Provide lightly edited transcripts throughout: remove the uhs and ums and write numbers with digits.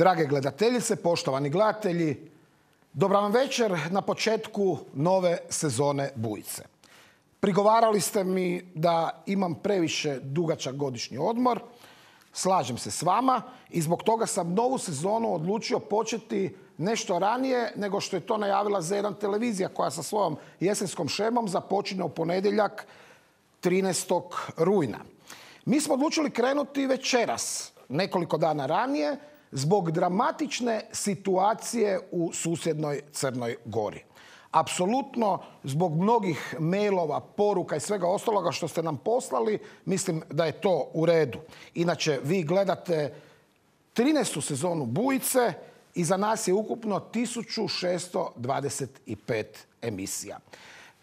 Drage gledateljice, poštovani gledatelji, dobra vam večer na početku nove sezone Bujice. Prigovarali ste mi da imam previše dugačak godišnji odmor. Slažem se s vama i zbog toga sam novu sezonu odlučio početi nešto ranije nego što je to najavila Z1 televizija koja sa svojom jesenskom šemom započinje u ponedjeljak 13. rujna. Mi smo odlučili krenuti večeras, nekoliko dana ranije, zbog dramatične situacije u susjednoj Crnoj Gori. Apsolutno, zbog mnogih mailova, poruka i svega ostaloga što ste nam poslali, mislim da je to u redu. Inače, vi gledate 13. sezonu Bujice i za nas je ukupno 1625 emisija.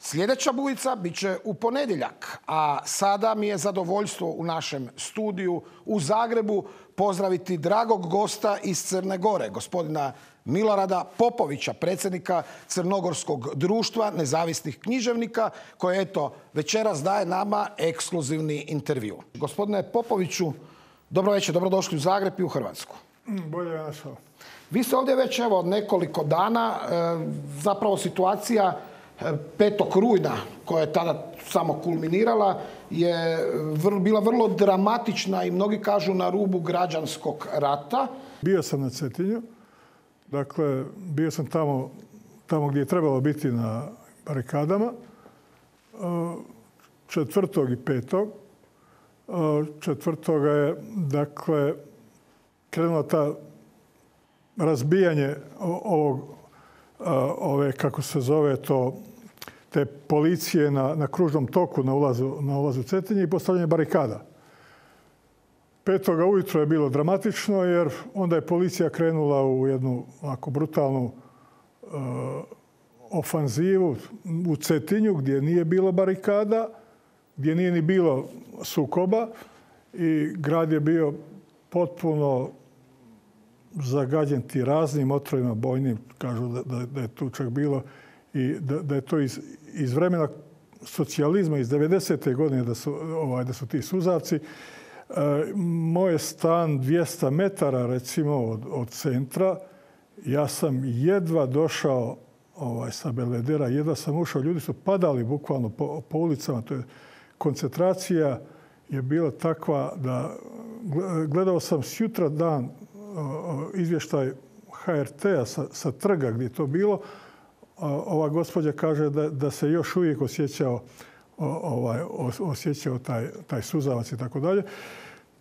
Sljedeća Bujica bit će u ponedjeljak, a sada mi je zadovoljstvo u našem studiju u Zagrebu pozdraviti dragog gosta iz Crne Gore, gospodina Milorada Popovića, predsjednika Crnogorskog društva nezavisnih književnika, koji eto večeras daje nama ekskluzivni intervju. Gospodine Popoviću, dobro večer, dobrodošli u Zagreb i u Hrvatsku. Bolje je našao. Vi ste ovdje već evo nekoliko dana, zapravo situacija 5. rujna, koja je tada samo kulminirala, je bila vrlo dramatična i mnogi kažu na rubu građanskog rata. Bio sam na Cetinju, dakle, bio sam tamo gdje je trebalo biti na barikadama, 4. i 5. 4. je, dakle, krenulo ta razbijanje kako se zove to, te policije na kružnom toku na ulazu Cetinje i postavljanje barikada. 5. ujutro je bilo dramatično jer onda je policija krenula u jednu ovako brutalnu ofanzivu u Cetinju gdje nije bilo barikada, gdje nije ni bilo sukoba i grad je bio potpuno zagađen ti raznim otrovima bojnim, kažu da je tu čak bilo i da je to iz vremena socijalizma, iz 90. godine da su ti suzavci. Moj je stan 200 metara recimo od centra. Ja sam jedva došao sa Belvedera, jedva sam ušao. Ljudi su padali bukvalno po ulicama. To je, koncentracija je bila takva da gledao sam sjutra dan izvještaj HRT-a sa trga gdje je to bilo. Ova gospođa kaže da se još uvijek osjećao taj suzavac i tako dalje.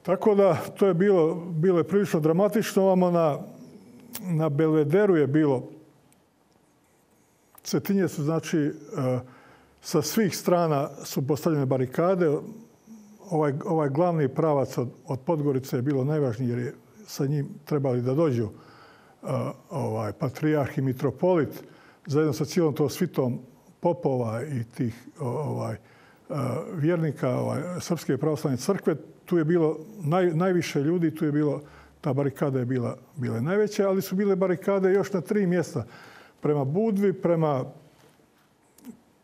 Tako da to je bilo prilično dramatično. Ovamo na Belvederu je bilo. Cetinje su, znači, sa svih strana su postavljene barikade. Ovaj glavni pravac od Podgorice je bilo najvažniji jer je sa njim trebali da dođu patrijarh i mitropolit zajedno sa cijelom to svitom popova i tih vjernika Srpske pravoslavne crkve. Tu je bilo najviše ljudi, tu je bilo, ta barikada je bila najveća, ali su bile barikade još na 3 mjesta. Prema Budvi,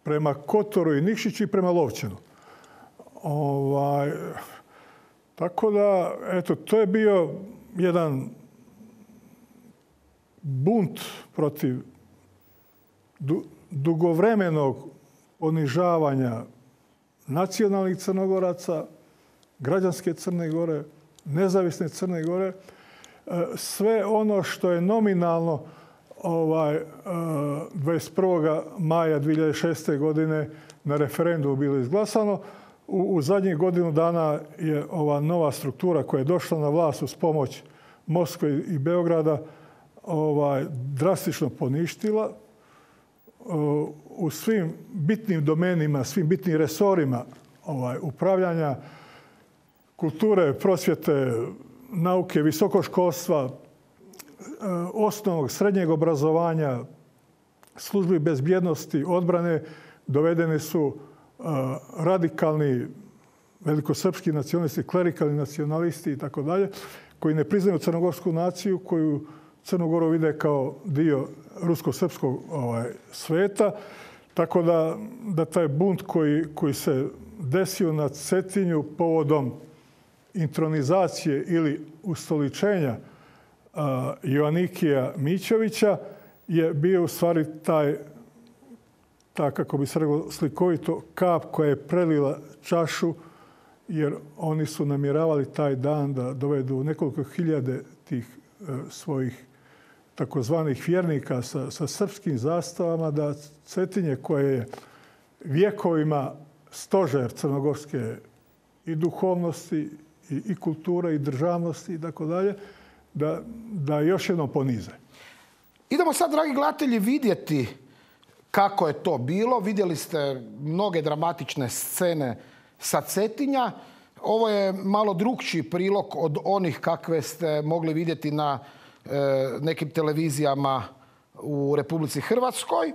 prema Kotoru i Nikšiću i prema Lovćenu. Tako da, eto, to je bio jedan bunt protiv dugovremenog ponižavanja nacionalnih Crnogoraca, građanske Crne Gore, nezavisne Crne Gore. Sve ono što je nominalno 21. maja 2006. godine na referendumu bilo izglasano, u zadnjih godinu dana je ova nova struktura koja je došla na vlast uz pomoć Moskve i Beograda drastično poništila. U svim bitnim domenima, svim bitnim resorima upravljanja, kulture, prosvjete, nauke, visokoškolstva, osnovnog, srednjeg obrazovanja, službi bezbjednosti, odbrane, dovedeni su radikalni velikosrpski nacionalisti, klerikalni nacionalisti i tako dalje, koji ne priznaju crnogorsku naciju, koju Crnu Goru vide kao dio rusko-srpskog sveta. Tako da taj bunt koji se desio na Cetinju povodom intronizacije ili ustoličenja Joanikija Mićovića je bio u stvari ta, kako bi se reklo slikovito, kap koja je prelila čašu, jer oni su namjeravali taj dan da dovedu nekoliko hiljade tih svojih takozvanih vjernika sa srpskim zastavama, da Cetinje koje je vjekovima stožer crnogorske i duhovnosti i kulture i državnosti i tako dalje, da još jednom ponize. Idemo sad, dragi gledatelji, vidjeti kako je to bilo. Vidjeli ste mnoge dramatične scene sa Cetinja. Ovo je malo drukčiji prilog od onih kakve ste mogli vidjeti na nekim televizijama u Republici Hrvatskoj.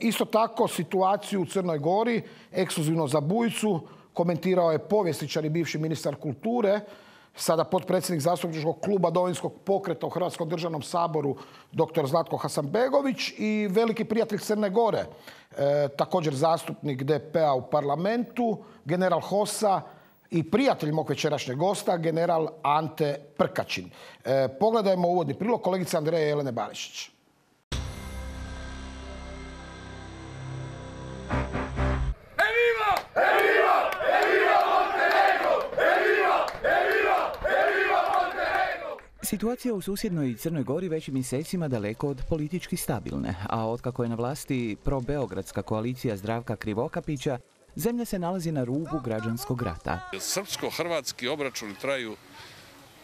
Isto tako situaciju u Crnoj Gori, ekskluzivno za Bujicu, komentirao je povjesničar i bivši ministar kulture, sada potpredsjednik zastupničkog kluba Domovinskog pokreta u Hrvatskom državnom saboru dr. Zlatko Hasanbegović i veliki prijatelj Crne Gore, također zastupnik DP-a u parlamentu, general HOS-a i prijatelj mog večerašnjeg gosta, general Ante Prkačin. Pogledajmo uvodni prilog kolegice Andreje Jelene Barišić. Situacija u susjednoj Crnoj Gori već mjesecima daleko od politički stabilne, a otkako je na vlasti pro-beogradska koalicija Zdravka Krivokapića, zemlja se nalazi na rubu građanskog rata. Srpsko-hrvatski obračuni traju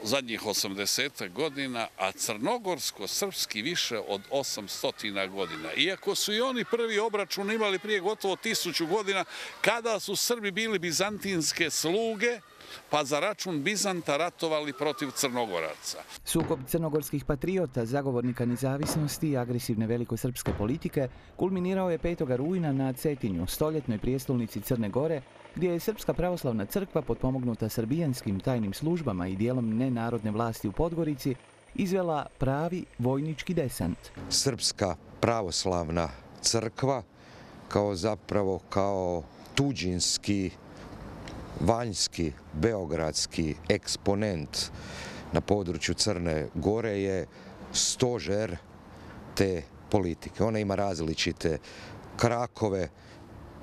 zadnjih 80 godina, a crnogorsko-srpski više od 800 godina. Iako su i oni prvi obračun imali prije gotovo 1000 godina, kada su Srbi bili bizantinske sluge, pa za račun Bizanta ratovali protiv Crnogoraca. Sukob crnogorskih patriota, zagovornika nezavisnosti i agresivne velikosrpske politike kulminirao je 5. rujna na Cetinju, stoljetnoj prijestolnici Crne Gore, gdje je Srpska pravoslavna crkva potpomognuta srbijanskim tajnim službama i dijelom nenarodne vlasti u Podgorici izvela pravi vojnički desant. Srpska pravoslavna crkva kao tuđinski, vanjski, beogradski eksponent na području Crne Gore je stožer te politike. Ona ima različite krakove,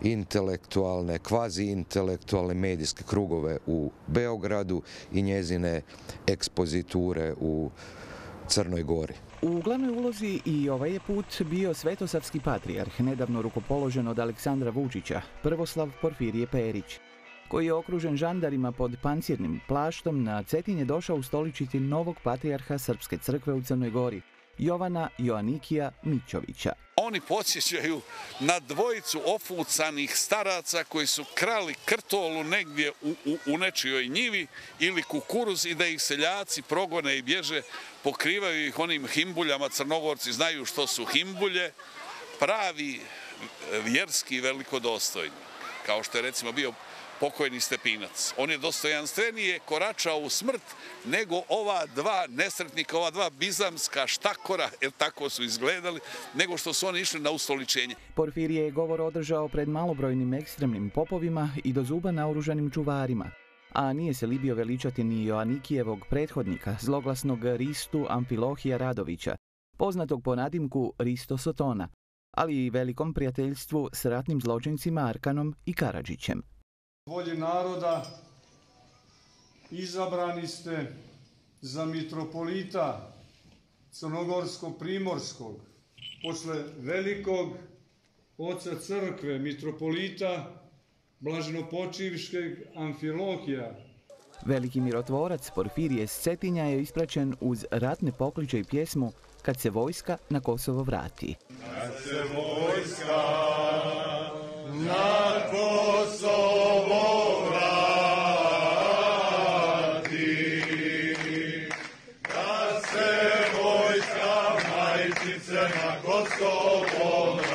intelektualne, kvazi-intelektualne medijske krugove u Beogradu i njezine ekspoziture u Crnoj Gori. U glavnoj ulozi i ovaj je put bio svetosavski patrijarh, nedavno rukopoložen od Aleksandra Vučića, prvoslav Porfirije Perić, koji je okružen žandarima pod pancirnim plaštom, na Cetinje došao ustoličiti novog patrijarha Srpske crkve u Crnoj Gori, Jovana Joanikija Mićovića. Oni podsjećaju na dvojicu ofucanih staraca koji su krali krtolu negdje u nečijoj njivi ili kukuruz i da ih seljaci progone i bježe, pokrivaju ih onim himbuljama. Crnogorci znaju što su himbulje, pravi vjerski velikodostojni, kao što je recimo bio pokojni Stepinac. On je dostojanstvenije koračao u smrt nego ova dva nesretnika, ova dva bizamska štakora, jer tako su izgledali, nego što su oni išli na ustoličenje. Porfirije je govor održao pred malobrojnim ekstremnim popovima i do zuba naoružanim čuvarima, a nije se libio veličati ni Joanikijevog prethodnika, zloglasnog Ristu Amfilohija Radovića, poznatog po nadimku Risto Sotona, ali i velikom prijateljstvu s ratnim zločincima Arkanom i Karadžićem. Volji naroda izabrani ste za mitropolita Crnogorsko-Primorskog, posle velikog oca crkve, mitropolita blaženopočivškeg Amfilohija. Veliki mirotvorac Porfirije s Cetinja je ispraćen uz ratne pokliče i pjesmu Kad se vojska na Kosovo vrati. Kad se vojska na Kosovo vrati, da se vojska majčice na Kosovo vrati.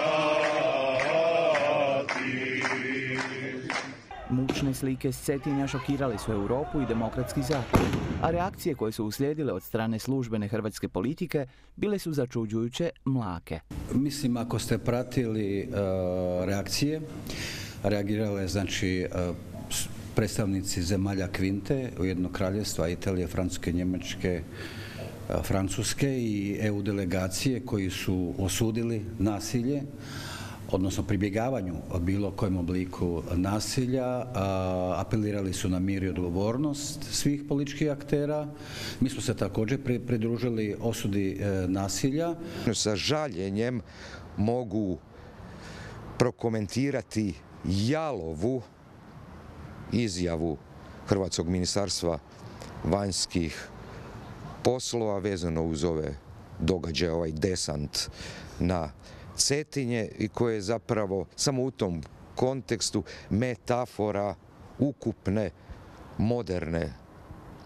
Mučne slike s Cetinja šokirale su Europu i demokratski zapad, a reakcije koje su uslijedile od strane službene hrvatske politike bile su začuđujuće mlake. Mislim, ako ste pratili reakcije, reagirale znači predstavnici zemalja Kvinte, Ujedinjenog Kraljevstva, Italije, Francuske, Njemačke, Francuske i EU delegacije koji su osudili nasilje, odnosno pribjegavanju bilo kojem obliku nasilja, apelirali su na mir i odgovornost svih političkih aktera. Mi smo se također pridružili osudi nasilja. Sa žaljenjem mogu prokomentirati jalovu izjavu Hrvatskog ministarstva vanjskih poslova vezano uz ove događaje, ovaj desant na Cetinje i koje je zapravo samo u tom kontekstu metafora ukupne moderne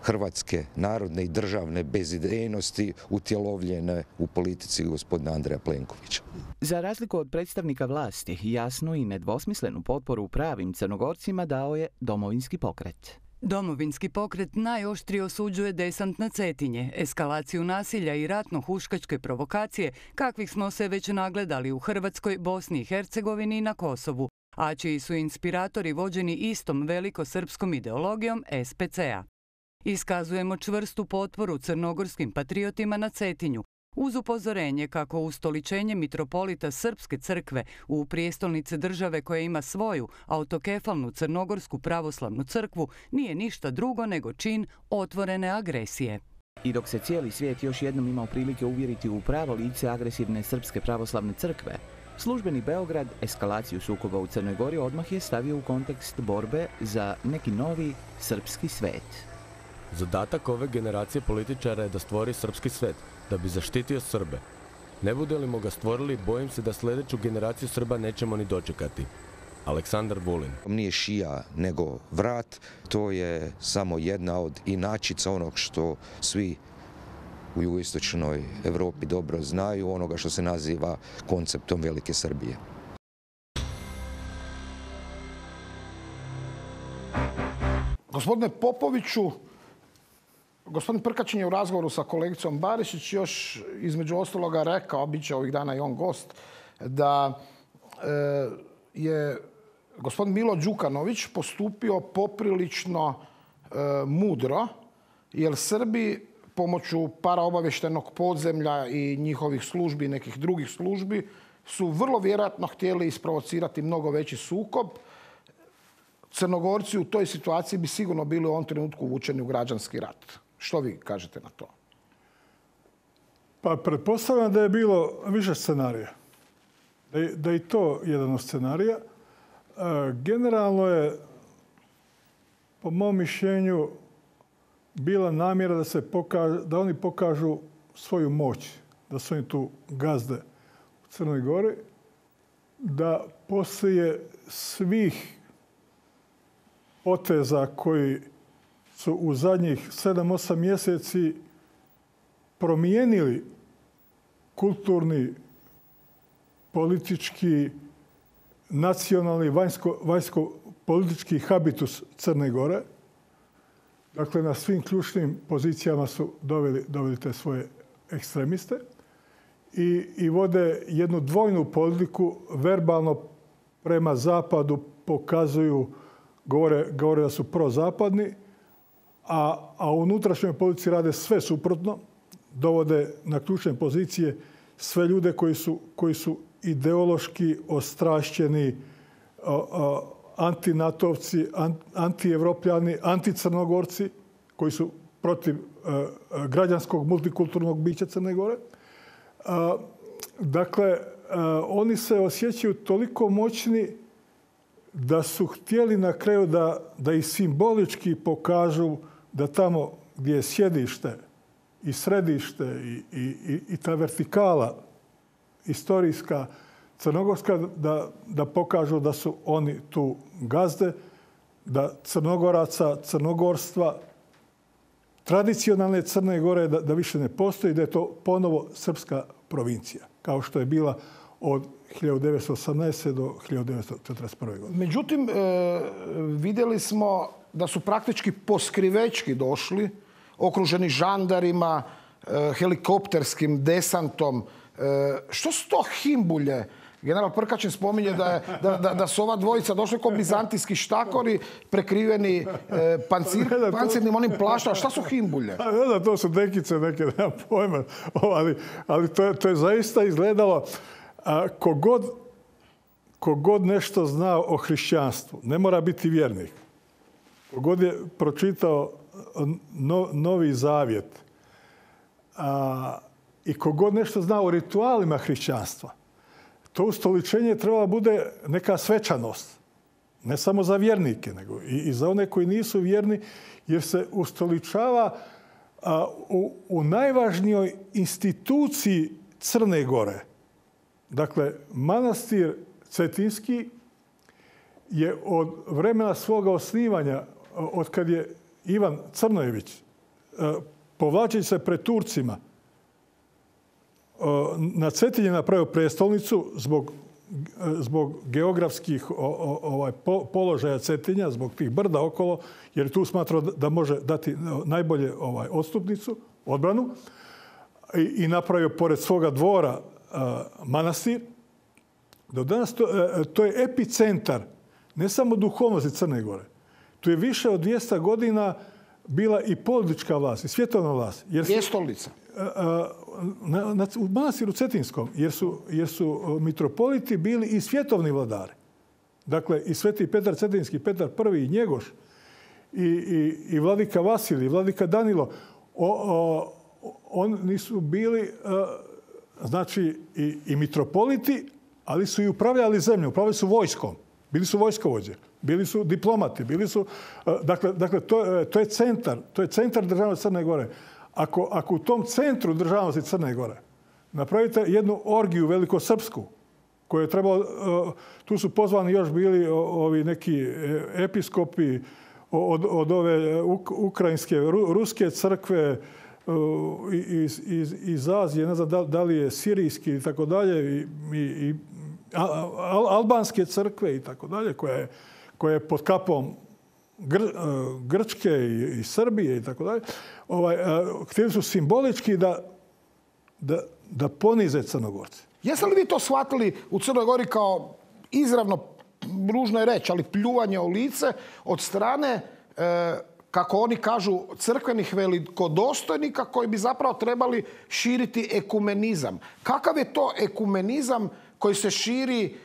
hrvatske narodne i državne bezidejnosti utjelovljene u politici gospodina Andreja Plenkovića. Za razliku od predstavnika vlasti, jasnu i nedvosmislenu potporu pravim Crnogorcima dao je Domovinski pokret. Domovinski pokret najoštrije osuđuje desant na Cetinje, eskalaciju nasilja i ratno-huškačke provokacije, kakvih smo se već nagledali u Hrvatskoj, Bosni i Hercegovini i na Kosovu, a čiji su inspiratori vođeni istom velikosrpskom ideologijom SPC-a. Iskazujemo čvrstu potporu crnogorskim patriotima na Cetinju, uz upozorenje kako ustoličenje mitropolita Srpske crkve u prijestolnici države koja ima svoju autokefalnu crnogorsku pravoslavnu crkvu nije ništa drugo nego čin otvorene agresije. I dok se cijeli svijet još jednom imao prilike uvjeriti u pravo lice agresivne Srpske pravoslavne crkve, službeni Beograd eskalaciju sukoba u Crnoj Gori odmah je stavio u kontekst borbe za neki novi srpski svet. Zadatak ove generacije političara je da stvori srpski svet, da bi zaštitio Srbe. Ne budemo ga stvorili, bojim se da sljedeću generaciju Srba nećemo ni dočekati. Aleksandar Vulin. Nije šija nego vrat, to je samo jedna od inačica onog što svi u jugoistočnoj Europi dobro znaju, onoga što se naziva konceptom Velike Srbije. Gospodine Popoviću, gospodin Prkačin je u razgovoru sa kolegicom Barišić još između ostaloga rekao, bit će ovih dana i on gost, da je gospodin Milo Đukanović postupio poprilično mudro, jer Srbi pomoću paraobavještajnog podzemlja i njihovih službi i nekih drugih službi su vrlo vjerojatno htjeli isprovocirati mnogo veći sukob. Crnogorci u toj situaciji bi sigurno bili u ovom trenutku uvučeni u građanski rat. Što vi kažete na to? Pa pretpostavljam da je bilo više scenarija. Da je i to jedan od scenarija. Generalno je, po mom mišljenju, bila namjera da oni pokažu svoju moć, da su oni tu gazde u Crnoj Gori, da poslije svih poteza koji su u zadnjih 7-8 mjeseci promijenili kulturni, politički, nacionalni, vanjsko-politički habitus Crne Gore. Dakle, na svim ključnim pozicijama su doveli te svoje ekstremiste i vode jednu dvojnu politiku, verbalno prema zapadu pokazuju, govore da su prozapadni, a u unutrašnjoj politici rade sve suprotno, dovode na ključne pozicije sve ljude koji su ideološki ostrašćeni antinatovci, antievropljani, anticrnogorci koji su protiv građanskog multikulturnog bića Crne Gore. Dakle, oni se osjećaju toliko moćni da su htjeli na kraju da i simbolički pokažu da tamo gdje je sjedište i središte i ta vertikala istorijska crnogorska, da pokažu da su oni tu gazde, da Crnogoraca, crnogorstva, tradicionalne Crne Gore da više ne postoji, da je to ponovo srpska provincija, kao što je bila od 1918. do 1941. godine. Međutim, vidjeli smo da su praktički poskrivečki došli, okruženi žandarima, helikopterskim desantom. Što su to himbulje General Prkačin spominje da su ova dvojica došli kao bizantijski štakori prekriveni pancirnim onim plaštima. Šta su himbulje? Da, to su dekice neke, nema pojma. Ali to je zaista izgledalo kogod nešto zna o hrišćanstvu. Ne mora biti vjernik. Kogod je pročitao Novi Zavjet i kogod nešto zna o ritualima hrišćanstva, to ustoličenje treba bude neka svečanost. Ne samo za vjernike, nego i za one koji nisu vjerni, jer se ustoličava u najvažnijoj instituciji Crne Gore. Dakle, manastir Cetinski je od vremena svoga osnivanja, od kad je Ivan Crnojević, povlačeći se pred Turcima, na Cetinje napravio prestolnicu zbog geografskih položaja Cetinja, zbog tih brda okolo, jer je tu smatrao da može dati najbolje odstupnicu, odbranu, i napravio pored svoga dvora manastir. Do danas to je epicentar ne samo duhovnosti Crne Gore. Tu je više od 200 godina bila i politička vlast, i svjetovna vlast. Prijestolnica. U manastiru Cetinskom, jer su mitropoliti bili i svjetovni vladari. Dakle, i Sveti Petar Cetinski, Petar I i Njegoš, i vladika Vasilij, i vladika Danilo, oni su bili znači i mitropoliti, ali su i upravljali zemljom, upravljali su vojskom. Bili su vojskovođe, bili su diplomati, bili su... Dakle, to je centar državnosti Crne Gore. Ako u tom centru državnosti Crne Gore napravite jednu orgiju velikosrpsku, koju je trebalo... Tu su pozvani još bili ovi neki episkopi od ove ukrajinske, ruske crkve, iz Azije, ne znam da li je sirijski i tako dalje, i albanske crkve i tako dalje, koja je pod kapom Grčke i Srbije i tako dalje. Htjeli su simbolički da ponize Crnogorce. Jeste li vi to shvatili u Crnoj Gori kao izravno, ružno je reći, ali pljuvanje u lice od strane, kako oni kažu, crkvenih velikodostojnika koji bi zapravo trebali širiti ekumenizam? Kakav je to ekumenizam koji se širi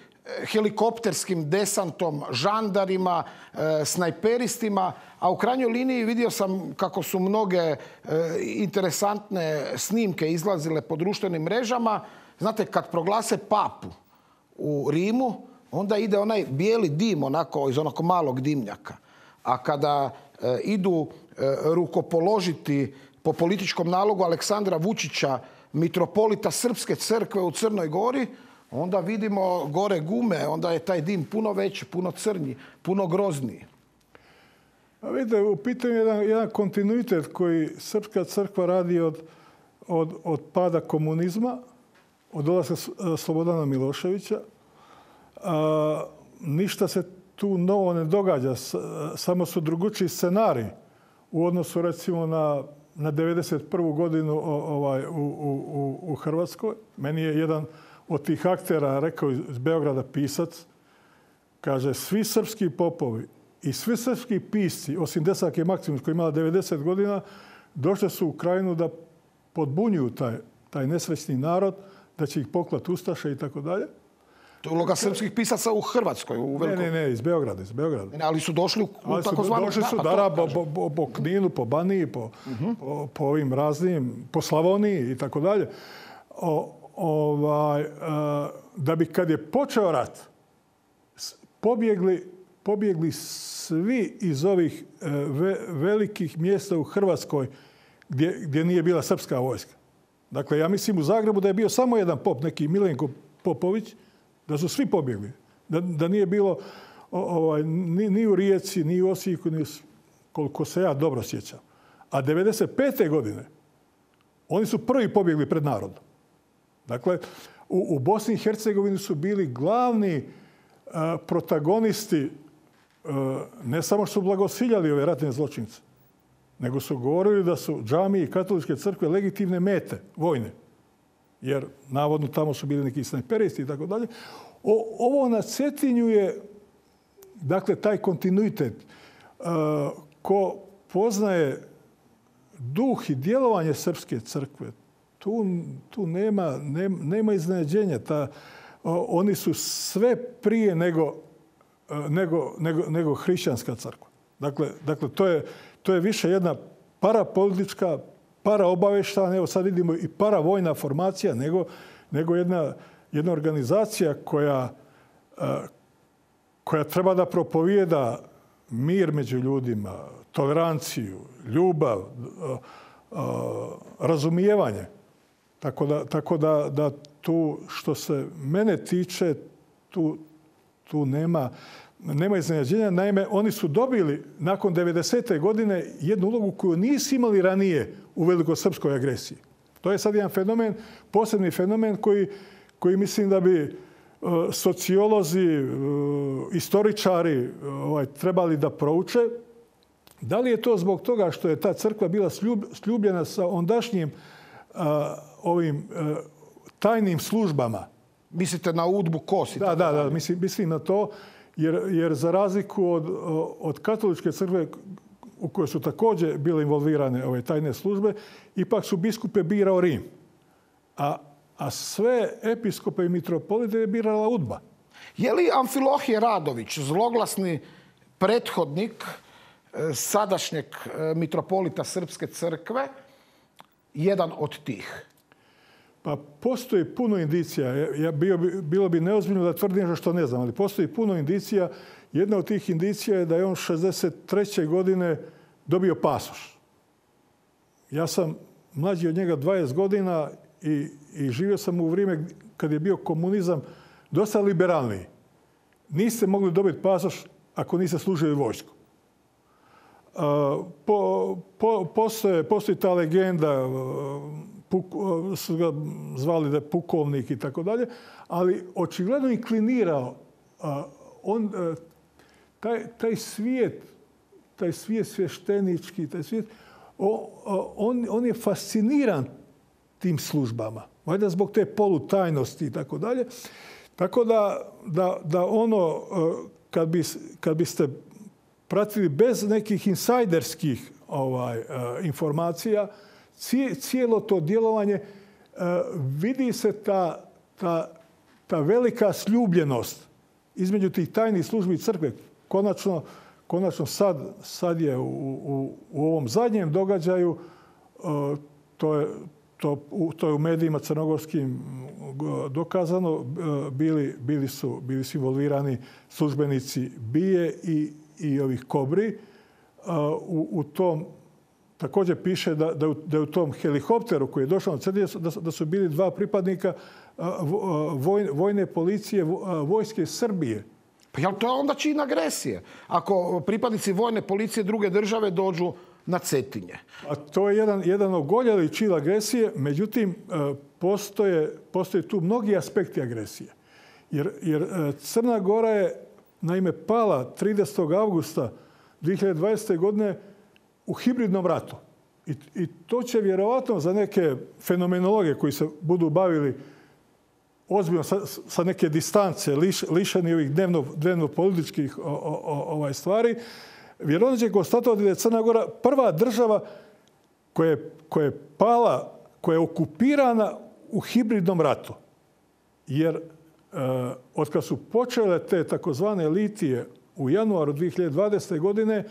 helikopterskim desantom, žandarima, snajperistima, a u krajnjoj liniji vidio sam kako su mnoge interesantne snimke izlazile po društvenim mrežama. Znate, kad proglase papu u Rimu, onda ide onaj bijeli dim onako iz onog malog dimnjaka. A kada idu rukopoložiti po političkom nalogu Aleksandra Vučića, mitropolita Srpske crkve u Crnoj Gori, onda vidimo gore gume, onda je taj dim puno veći, puno crnji, puno grozniji. A vidite, u pitanju je jedan kontinuitet koji Srpska crkva radi od pada komunizma, od dolaska Slobodana Miloševića. Ništa se tu novo ne događa, samo su drugačiji scenariji u odnosu recimo na 1991. godinu u Hrvatskoj. Meni je jedan od tih aktera rekao iz Beograda pisac, kaže, svi srpski popovi i svi srpski pisci, osim Desake Maksimović koja je imala 90 godina, došli su u Krajinu da podbunjuju taj nesrećni narod, da će ih poklati ustaše i tako dalje. To je uloga srpskih pisaca u Hrvatskoj. Ne, iz Beograda. Ali su došli u takozvanu... Došli su po Kninu, po Baniji, po ovim raznim, po Slavoniji i tako dalje. Da bi kad je počeo rat, pobjegli svi iz ovih velikih mjesta u Hrvatskoj gdje nije bila srpska vojska. Dakle, ja mislim u Zagrebu da je bio samo jedan pop, neki Milenko Popović, da su svi pobjegli. Da nije bilo ni u Rijeci, ni u Osijeku, koliko se ja dobro sjećam. A 1995. godine oni su prvi pobjegli pred narodom. Dakle, u Bosni i Hercegovini su bili glavni protagonisti, ne samo što su blagosiljali ove ratne zločince, nego su govorili da su džamije i katoličke crkve legitimne mete, vojne. Jer, navodno, tamo su bili neki snajperisti i tako dalje. Ovo na Cetinju je, dakle, taj kontinuitet. Ko poznaje duh i djelovanje Srpske crkve, tu nema iznenađenja. Oni su sve prije nego hrišćanska crkva. Dakle, to je više jedna parapolitička, paraobavještajna, evo sad vidimo i paravojna formacija, nego jedna organizacija koja treba da propovijeda mir među ljudima, toleranciju, ljubav, razumijevanje. Tako da tu, što se mene tiče, tu nema iznenađenja. Naime, oni su dobili nakon 90. godine jednu ulogu koju nisu imali ranije u velikosrpskoj agresiji. To je sad jedan fenomen, posebni fenomen koji mislim da bi sociolozi, istoričari trebali da prouče. Da li je to zbog toga što je ta crkva bila sljubljena sa ondašnjim ovim tajnim službama? Mislite na UDBU, KOS? Da, mislim na to. Jer za razliku od katoličke crkve u kojoj su također bile involvirane ove tajne službe, ipak su biskupe birao Rim. A sve episkope i mitropolite je birala UDBA. Je li Amfilohije Radović, zloglasni prethodnik sadašnjeg mitropolita Srpske crkve, jedan od tih? Pa postoji puno indicija. Bilo bi neozbiljno da tvrdim nešto što ne znam, ali postoji puno indicija. Jedna od tih indicija je da je on 63. godine dobio pasoš. Ja sam mlađi od njega 20 godina i živio sam u vrijeme kad je bio komunizam dosta liberalniji. Niste mogli dobiti pasoš ako niste služili vojsku. Postoji ta legenda, su ga zvali da je pukovnik i tako dalje, ali očigledno inklinirao taj svijet sveštenički, taj svijet, on je fasciniran tim službama. Valjda zbog te polutajnosti i tako dalje. Tako da ono, kad biste pratili bez nekih insajderskih informacija, cijelo to djelovanje, vidi se ta velika sljubljenost između tih tajnih službi crkve. Konačno sad je u ovom zadnjem događaju, to je u medijima crnogorskim dokazano, bili su involvirani službenici BIA i ovih Kobri. U tom također piše da je u tom helikopteru koji je došao na Cetinje da su bili 2 pripadnika vojne policije vojske Srbije. Pa jel to je onda čin agresije? Ako pripadnici vojne policije druge države dođu na Cetinje. A to je jedan ogoljeli čin agresije, međutim, postoje tu mnogi aspekti agresije. Jer Crna Gora je naime pala 30. avgusta 2020. godine u hibridnom ratu. I to će vjerovatno za neke fenomenologe koji se budu bavili ozbiljno sa neke distance, lišeni ovih dnevno-političkih stvari, vjerovatno će konstatovati da je Crna Gora prva država koja je pala, koja je okupirana u hibridnom ratu. Jer otkad su počele te takozvane litije u januaru 2020. godine,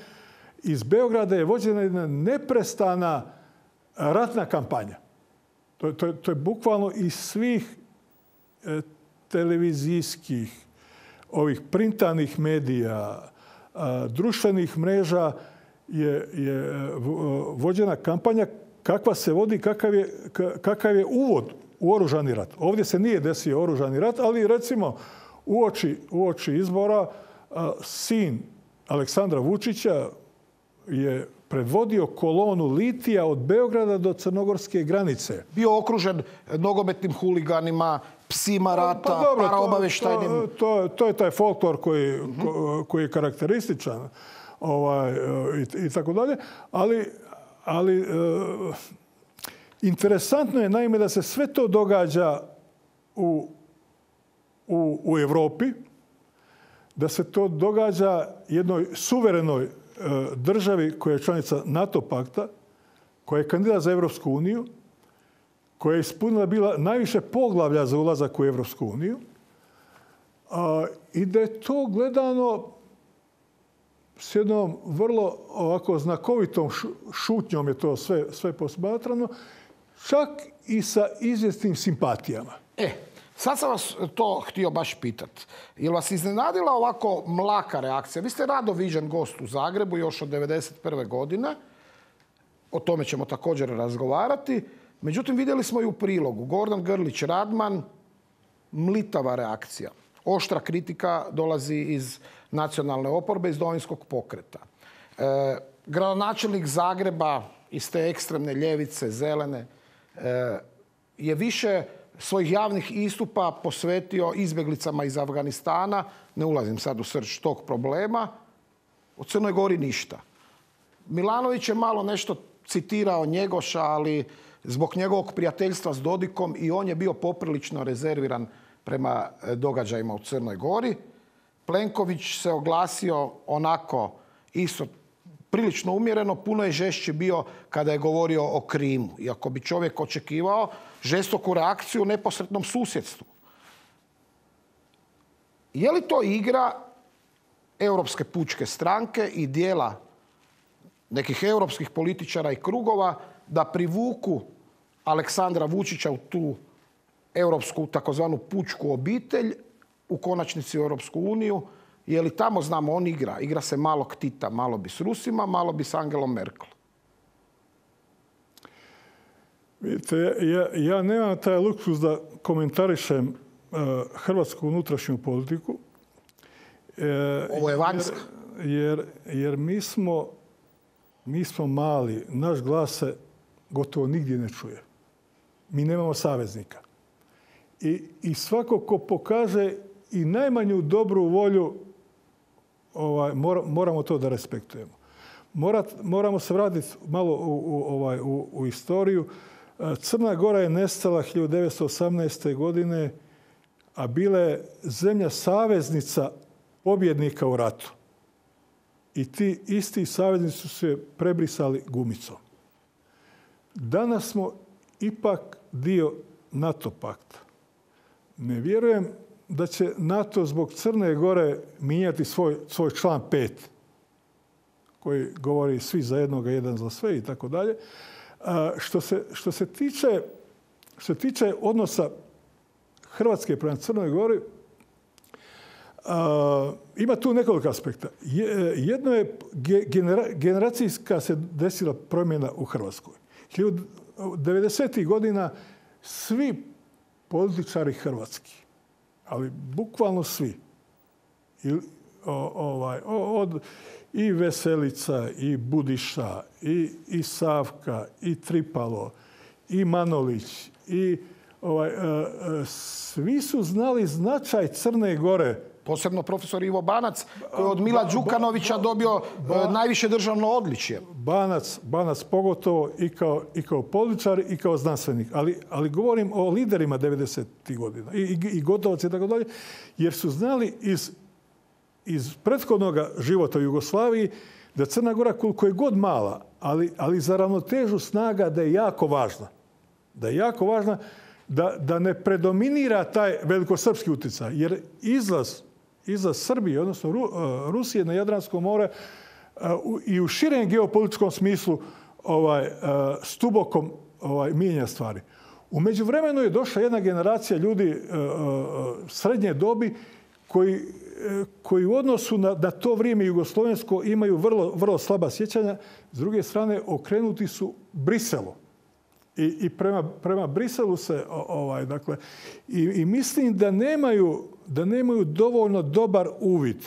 iz Beograda je vođena jedna neprestana ratna kampanja. To je bukvalno iz svih televizijskih, ovih printanih medija, društvenih mreža je vođena kampanja kakva se vodi, kakav je uvod u oružani rat. Ovdje se nije desio oružani rat, ali recimo uoči izbora sin Aleksandra Vučića je predvodio kolonu litija od Beograda do crnogorske granice. Bio okružen nogometnim huliganima, psima rata, paraobavještajnim... To je taj folklor koji je karakterističan i tako dalje. Ali interesantno je naime da se sve to događa u Europi, da se to događa jednoj suverenoj državi koja je članica NATO pakta, koja je kandidat za Europsku uniju, koja je ispunila bila najviše poglavlja za ulazak u Europsku uniju, i da je to gledano s jednom vrlo ovako znakovitom šutnjom je to sve posmatrano, čak i sa izvjesnim simpatijama. Sad sam vas to htio baš pitati. Je li vas iznenadila ovako mlaka reakcija? Vi ste rado viđen gost u Zagrebu još od 1991. godine. O tome ćemo također razgovarati. Međutim, vidjeli smo i u prilogu. Gordan Grlić Radman, mlitava reakcija. Oštra kritika dolazi iz nacionalne oporbe, iz Domovinskog pokreta. Gradonačelnik Zagreba iz te ekstremne ljevice, zelene, je više svojih javnih istupa posvetio izbjeglicama iz Afganistana. Ne ulazim sad u srž tog problema. O Crnoj Gori ništa. Milanović je malo nešto citirao Njegoša, ali zbog njegovog prijateljstva s Dodikom i on je bio poprilično rezerviran prema događajima u Crnoj Gori. Plenković se oglasio onako isto prilično umjereno, puno je žešći bio kada je govorio o Krimu. Iako bi čovjek očekivao žestoku reakciju u neposrednom susjedstvu. Je li to igra Europske pučke stranke i dijela nekih europskih političara i krugova da privuku Aleksandra Vučića u tu europsku takozvanu pučku obitelj, u konačnici u Europsku uniju? Je li tamo, znamo, on igra se malog Tita, malo bi s Rusima, malo bi s Angelom Merkel? Vidite, ja nemam taj luksuz da komentarišem hrvatsku unutrašnju politiku. Ovo je vanjska. Jer mi smo mali, naš glas se gotovo nigdje ne čuje. Mi nemamo saveznika. I svako ko pokaže i najmanju dobru volju, moramo to da respektujemo. Moramo se vratiti malo u istoriju. Crna Gora je nestala 1918. godine, a bila je zemlja saveznica pobjednika u ratu. I ti isti saveznici su se prebrisali gumicom. Danas smo ipak dio NATO pakta. Ne vjerujem da će NATO zbog Crne Gore mijenjati svoj član 5, koji govori svi za jednoga, jedan za sve i tako dalje. Što se tiče odnosa Hrvatske prema Crnoj Gori, ima tu nekoliko aspekta. Jedno je generacijska se desila promjena u Hrvatskoj. 90. godina svi političari hrvatski, ali bukvalno svi, od i Veselica, i Budiša, i Savka, i Tripalo, i Manolić, i svi su znali značaj Crne Gore. Posebno profesor Ivo Banac, koji je od Mila Đukanovića dobio najviše državno odličje. Banac pogotovo i kao političar i kao znanstvenik. Ali govorim o liderima 90. godina i Gotovac i tako dalje, jer su znali iz prethodnog života u Jugoslaviji da Crna Gora, koliko je god mala, ali za ravnotežu snaga da je jako važna. Da je jako važna da ne predominira taj velikosrpski utjecaj. Jer izlaz Srbije, odnosno Rusije na Jadransko more i u širem geopolitičkom smislu s dubokom mijenja stvari. U međuvremenu je došla jedna generacija ljudi srednje dobi koji u odnosu na to vrijeme jugoslovensko imaju vrlo slaba sjećanja. S druge strane, okrenuti su Briselu. I prema Briselu se, dakle, i mislim da nemaju dovoljno dobar uvid,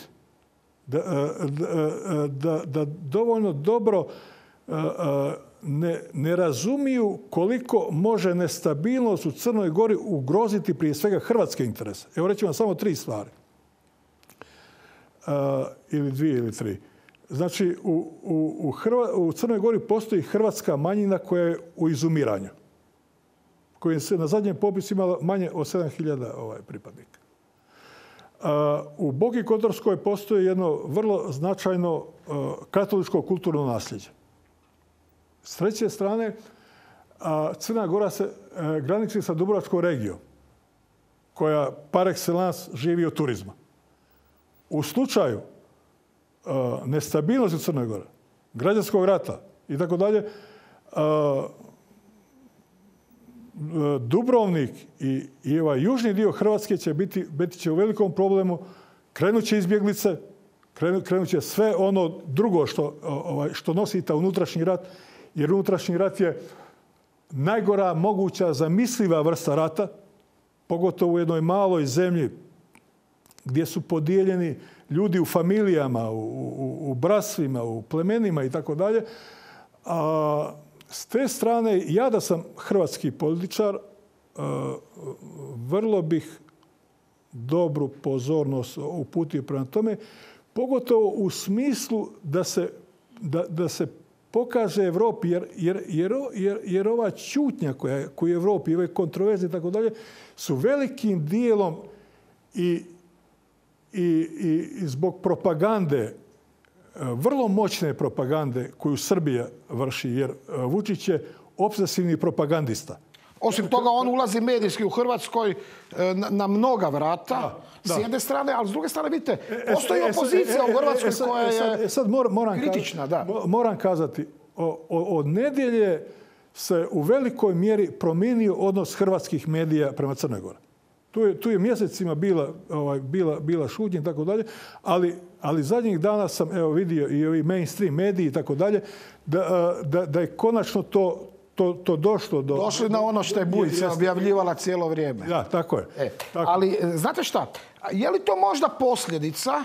da dovoljno dobro ne razumiju koliko može nestabilnost u Crnoj Gori ugroziti prije svega hrvatske interese. Evo reći vam samo 3 stvari. Ili 2 ili 3. Znači, u Crnoj Gori postoji hrvatska manjina koja je u izumiranju, koja se na zadnjem popisu imala manje od 7.000 pripadnika. U Boki Kotorskoj postoji jedno vrlo značajno katoličko kulturno nasljeđe. S treće strane, Crna Gora se graniči sa Dubrovačkom regijom, koja par excellence živi od turizma. U slučaju nestabilnosti u Crnoj Gori, građanskog rata i tako dalje, Dubrovnik i ovaj južni dio Hrvatske će biti u velikom problemu. Krenut će izbjeglice, krenut će sve ono drugo što nosi ta unutrašnji rat, jer unutrašnji rat je najgora moguća zamisliva vrsta rata, pogotovo u jednoj maloj zemlji gdje su podijeljeni ljudi u familijama, u brastvima, u plemenima i tako dalje. S te strane, ja da sam hrvatski političar, vrlo bih dobru pozornost uputio prema tome, pogotovo u smislu da se pokaže Evropi, jer ova ćutnja koju je Evropi, ove kontroverze i tako dalje, su velikim dijelom i zbog propagande, vrlo moćne propagande koju Srbija vrši, jer Vučić je obsesivni propagandista. Osim toga, on ulazi medijski u Hrvatskoj na mnoga vrata, s jedne strane, ali s druge strane, vidite, postoji opozicija u Hrvatskoj koja je kritična. Moram kazati, od nedjelje se u velikoj mjeri promijenio odnos hrvatskih medija prema Crnoj Gori. Tu je mjesecima bila šutnja i tako dalje, ali zadnjih dana sam vidio i ovi mainstream mediji i tako dalje, da je konačno to došlo do... Došli na ono što je Bujica objavljivala cijelo vrijeme. Da, tako je. Ali, znate šta, je li to možda posljedica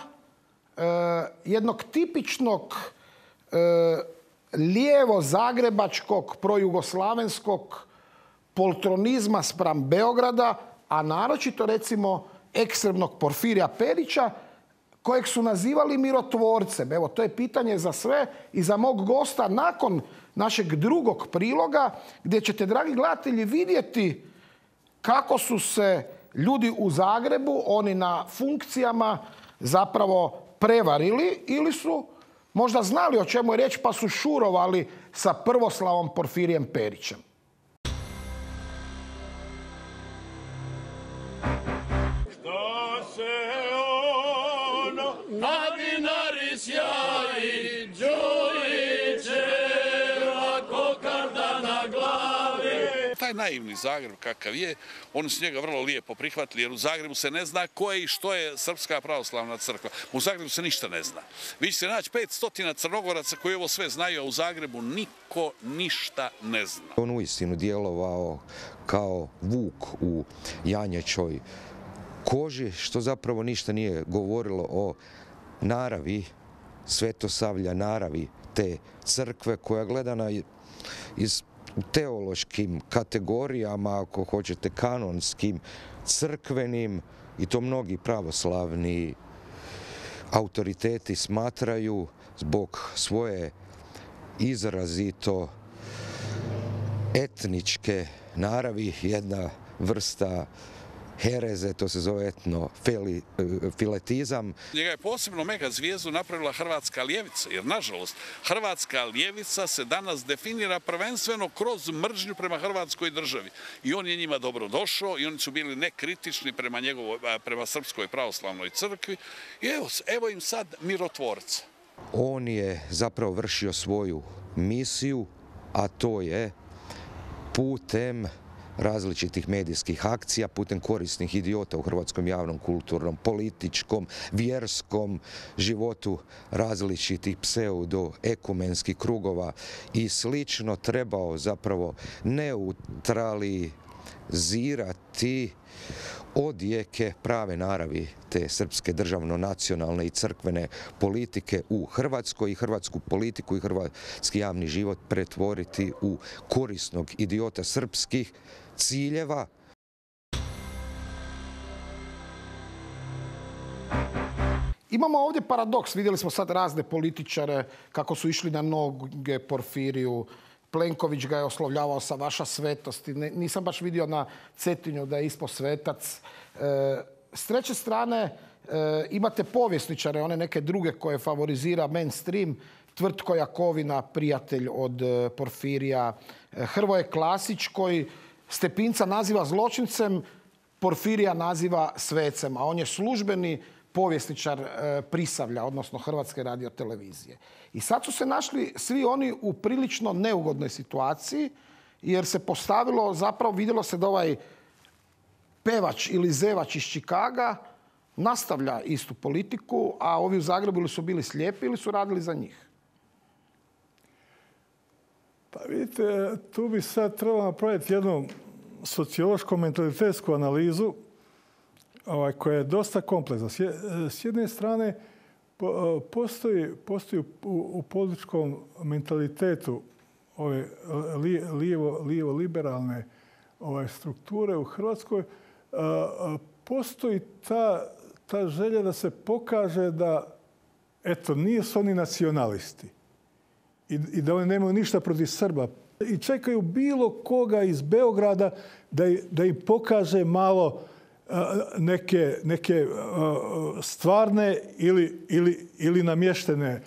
jednog tipičnog lijevo-zagrebačkog, projugoslavenskog poltronizma spram Beograda, a naročito, recimo, ekstremnog Porfirija Perića, kojeg su nazivali mirotvorcem? Evo, to je pitanje za sve i za mog gosta nakon našeg drugog priloga, gdje ćete, dragi gledatelji, vidjeti kako su se ljudi u Zagrebu, oni na funkcijama, zapravo prevarili ili su možda znali o čemu je riječ, pa su šurovali sa prvoslavom Porfirijem Perićem. Taj naivni Zagreb kakav je, oni su njega vrlo lijepo prihvatili, jer u Zagrebu se ne zna ko je i što je Srpska pravoslavna crkva. U Zagrebu se ništa ne zna. Vi ćete naći 500 Crnogoraca koji ovo sve znaju, a u Zagrebu niko ništa ne zna. On uistinu djelovao kao vuk u janjećoj koži, što zapravo ništa nije govorilo o naravi Svetosavlja, naravi te crkve koja gledana iz teološkim kategorijama, ako hoćete kanonskim, crkvenim, i to mnogi pravoslavni autoriteti smatraju zbog svoje izrazito etničke naravi, jedna vrsta hereze, to se zove etnofiletizam. Njega je posebno mega zvijezdu napravila hrvatska ljevica, jer nažalost hrvatska ljevica se danas definira prvenstveno kroz mržnju prema hrvatskoj državi. I on je njima dobro došao i oni su bili nekritični prema Srpskoj pravoslavnoj crkvi. I evo im sad mirotvorca. On je zapravo vršio svoju misiju, a to je putem različitih medijskih akcija, putem korisnih idiota u hrvatskom javnom, kulturnom, političkom, vjerskom životu različitih pseudo-ekumenskih krugova i slično trebao zapravo neutralizirati odjeke prave naravi te srpske državno-nacionalne i crkvene politike u Hrvatskoj i hrvatsku politiku i hrvatski javni život pretvoriti u korisnog idiota srpskih ciljeva. Imamo ovdje paradoks. Vidjeli smo sad razne političare kako su išli na noge Porfiriju. Plenković ga je oslovljavao sa vaša svetost. Nisam baš vidio na Cetinju da je ispao svetac. S treće strane, Imate povjesničare, one neke druge koje favorizira mainstream, Tvrtko Jakovina, prijatelj od Porfirija, Hrvoje Klasić koji Stepinca naziva zločincem, Porfirija naziva svecem, a on je službeni povjesničar Prisavlja, odnosno Hrvatske radiotelevizije. I sad su se našli svi oni u prilično neugodnoj situaciji, jer se postavilo, zapravo vidjelo se da ovaj pevač ili zevač iz Čikaga nastavlja istu politiku, a ovi u Zagrebu ili su bili slijepi ili su radili za njih. Pa vidite, tu bi sad trebalo napraviti jednu sociološko-mentalitetsku analizu koja je dosta kompleksna. S jedne strane, postoji u političkom mentalitetu ove lijevo-liberalne strukture u Hrvatskoj, postoji ta želja da se pokaže da, eto, nisu oni nacionalisti i da oni nemaju ništa protiv Srba. I čekaju bilo koga iz Beograda da im pokaže malo neke stvarne ili namještene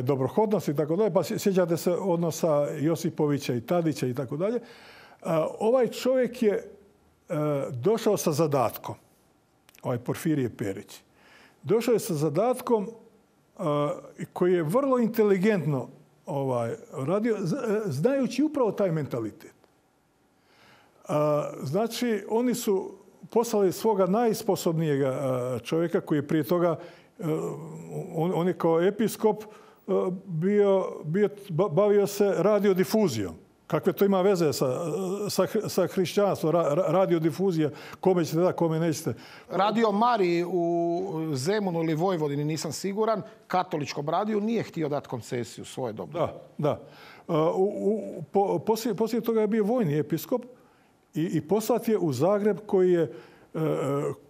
dobrohodnosti i tako dalje. Pa sjećate se odnosa Josipovića i Tadića i tako dalje. Ovaj čovjek je došao sa zadatkom, ovaj Porfirije Perić. Došao je sa zadatkom koji je vrlo inteligentno radio, znajući upravo taj mentalitet. Znači, oni su poslali svoga najsposobnijega čovjeka koji je prije toga, on je kao episkop bavio se radiodifuzijom. Kakve to ima veze sa hrišćanstvom, radiodifuzija, kome ćete da, kome nećete. Radio Mariji u Zemunu ili Vojvodini, nisam siguran, katoličkom radiju nije htio dati koncesiju svoje dobu. Da. Poslije toga je bio vojni episkop i poslat je u Zagreb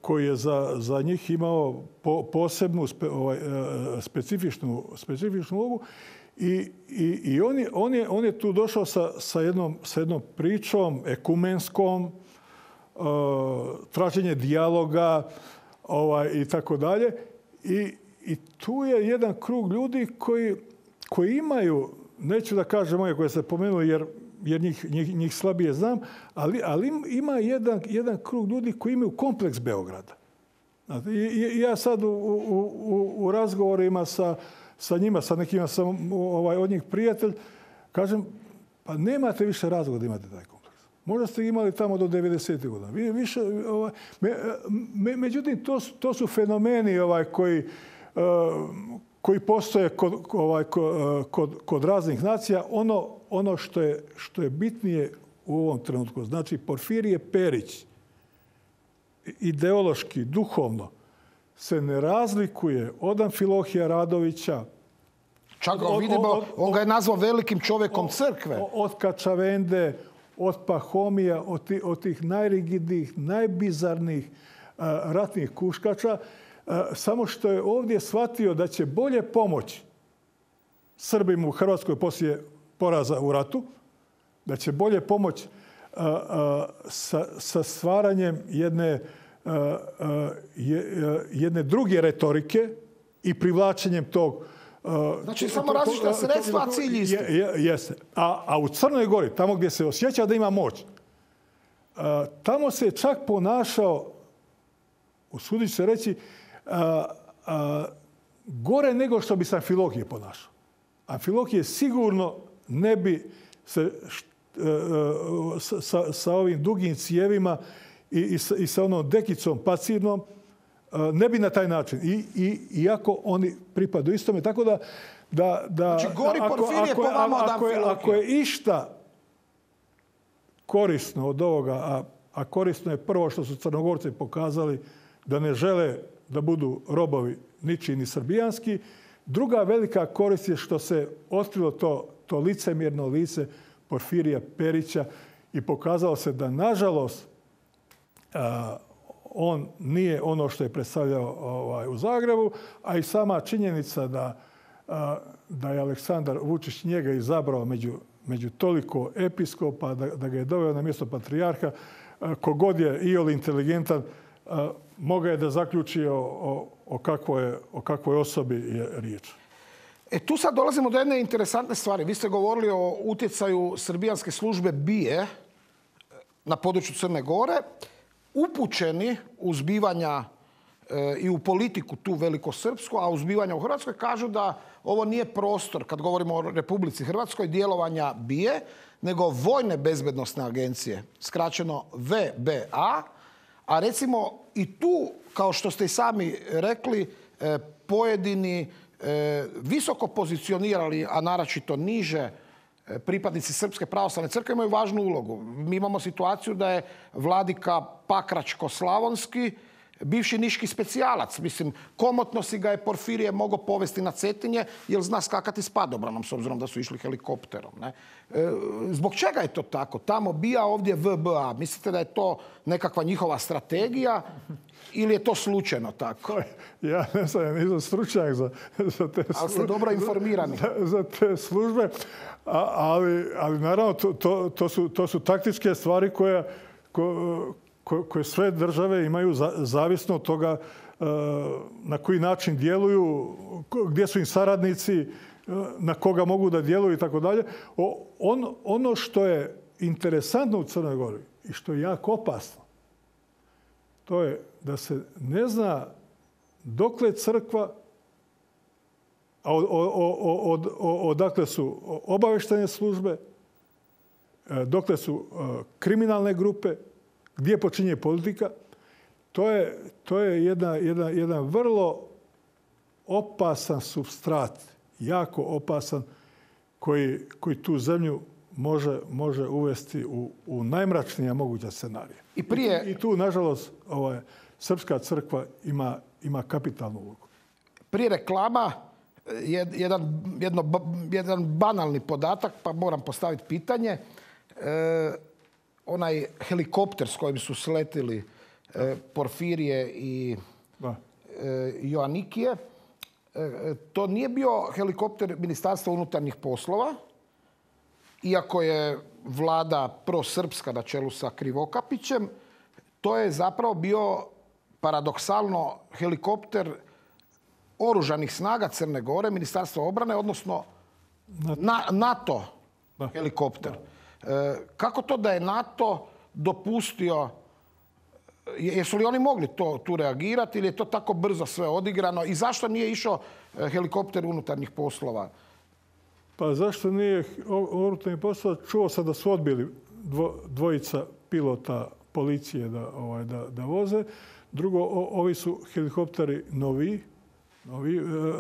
koji je za njih imao posebnu specifičnu ulogu. I on je tu došao sa jednom pričom ekumenskom, traženje dijaloga i tako dalje. I tu je jedan krug ljudi koji imaju, neću da kažem moje koje ste pomenuli jer njih slabije znam, ali ima jedan krug ljudi koji imaju kompleks Beograda. I ja sad u razgovorima sa njima, sa nekima sam od njih prijatelj, kažem, pa nemate više razloga da imate taj kompleks. Možda ste imali tamo do 90. godina. Međutim, to su fenomeni koji postoje kod raznih nacija. Ono što je bitnije u ovom trenutku, znači Porfirije Perić, ideološki, duhovno, se ne razlikuje od Amfilohija Radovića. Čak ga vidimo, on ga je nazvao velikim čovjekom crkve. Od Kačavende, od Pahomija, od tih najrigidnijih, najbizarnijih ratnih kuškača. Samo što je ovdje shvatio da će bolje pomoći Srbima u Hrvatskoj poslije poraza u ratu, da će bolje pomoći sa stvaranjem jedne druge retorike i privlačenjem tog... Znači, samo različita sredstva, a cilj isti. Jeste. A u Crnoj Gori, tamo gdje se osjeća da ima moć, tamo se čak ponašao, usudit ću se reći, gore nego što bi se Amfilohije ponašao. Amfilohije sigurno ne bi se sa ovim dugim cijevima i sa onom dekicom pacidnom, ne bi na taj način. Iako oni pripadaju istome. Tako da znači, gori Porfirije po vama od Amfilohije. Ako je išta korisno od ovoga, a korisno je prvo što su Crnogorci pokazali da ne žele da budu robovi ničiji ni srbijanski. Druga velika korist je što se otkrilo to licemjerno lice Porfirija Perića i pokazalo se da, nažalost, on nije ono što je predstavljao u Zagrebu, a i sama činjenica da je Aleksandar Vučić njega izabrao među toliko episkopa, da ga je doveo na mjesto patrijarha, kogod je iole inteligentan, mogao je da zaključi o kakvoj osobi je riječ. Tu sad dolazimo do jedne interesantne stvari. Vi ste govorili o utjecaju srbijanske službe BIA na području Crne Gore. Upućeni u zbivanja i u politiku tu velikosrpsku, a u zbivanja u Hrvatskoj kažu da ovo nije prostor, kad govorimo o Republici Hrvatskoj, djelovanja BIA, nego Vojne bezbednosne agencije, skraćeno VBA, a recimo i tu, kao što ste i sami rekli, pojedini visoko pozicionirali, a naročito niže, pripadnici Srpske pravoslavne crkve imaju važnu ulogu. Mi imamo situaciju da je vladika Pakračko-Slavonski bivši niški specijalac. Mislim, komotno si ga je Porfirije mogao povesti na Cetinje jer zna skakati s padobranom, s obzirom da su išli helikopterom. Ne? Zbog čega je to tako? Tamo BIA, ovdje VBA. Mislite da je to nekakva njihova strategija ili je to slučajno tako? Ja ne znam, ja nisam stručnjak za te službe. Ali ste dobro informirani. Za te službe. Ali naravno, to su taktičke stvari koje sve države imaju zavisno od toga na koji način djeluju, gdje su im saradnici, na koga mogu da djeluju i tako dalje. Ono što je interesantno u Crnoj Gori i što je jako opasno, to je da se ne zna dokle crkva, odakle su obavještajne službe, dokle su kriminalne grupe, gdje počinje politika. To je jedan vrlo opasan supstrat, jako opasan, koji tu zemlju može uvesti u najmračnija moguća scenarija. I tu, nažalost, Srpska crkva ima kapitalnu ulogu. Prije reklama, jedan banalni podatak, pa moram postaviti pitanje. Onaj helikopter s kojim su sletili Porfirije i Joanikije, to nije bio helikopter Ministarstva unutarnjih poslova, iako je vlada prosrpska na čelu sa Krivokapićem. To je zapravo bio paradoksalno helikopter oružanih snaga Crne Gore, Ministarstva obrane, odnosno NATO helikopter. Kako to da je NATO dopustio, jesu li oni mogli tu reagirati ili je to tako brzo sve odigrano i zašto nije išao helikopter unutarnjih poslova? Pa zašto nije unutarnjih poslova? Čuo sam da su odbili dvojica pilota policije da voze. Drugo, ovi su helikopteri novi,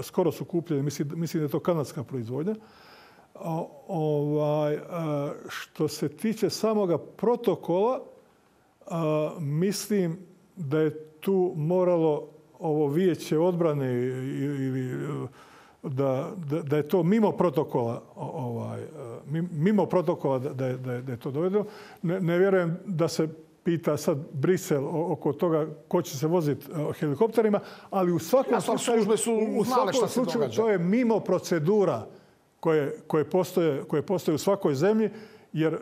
skoro su kupljeni, mislim da je to kanadska proizvodnja. Što se tiče samoga protokola, mislim da je tu moralo ovo vijeće odbrane ili da je to mimo protokola, da je to dovedeno. Ne vjerujem da se pita sad Brisel oko toga ko će se voziti helikopterima, ali u svakom slučaju to je mimo procedura koje postoje u svakoj zemlji, jer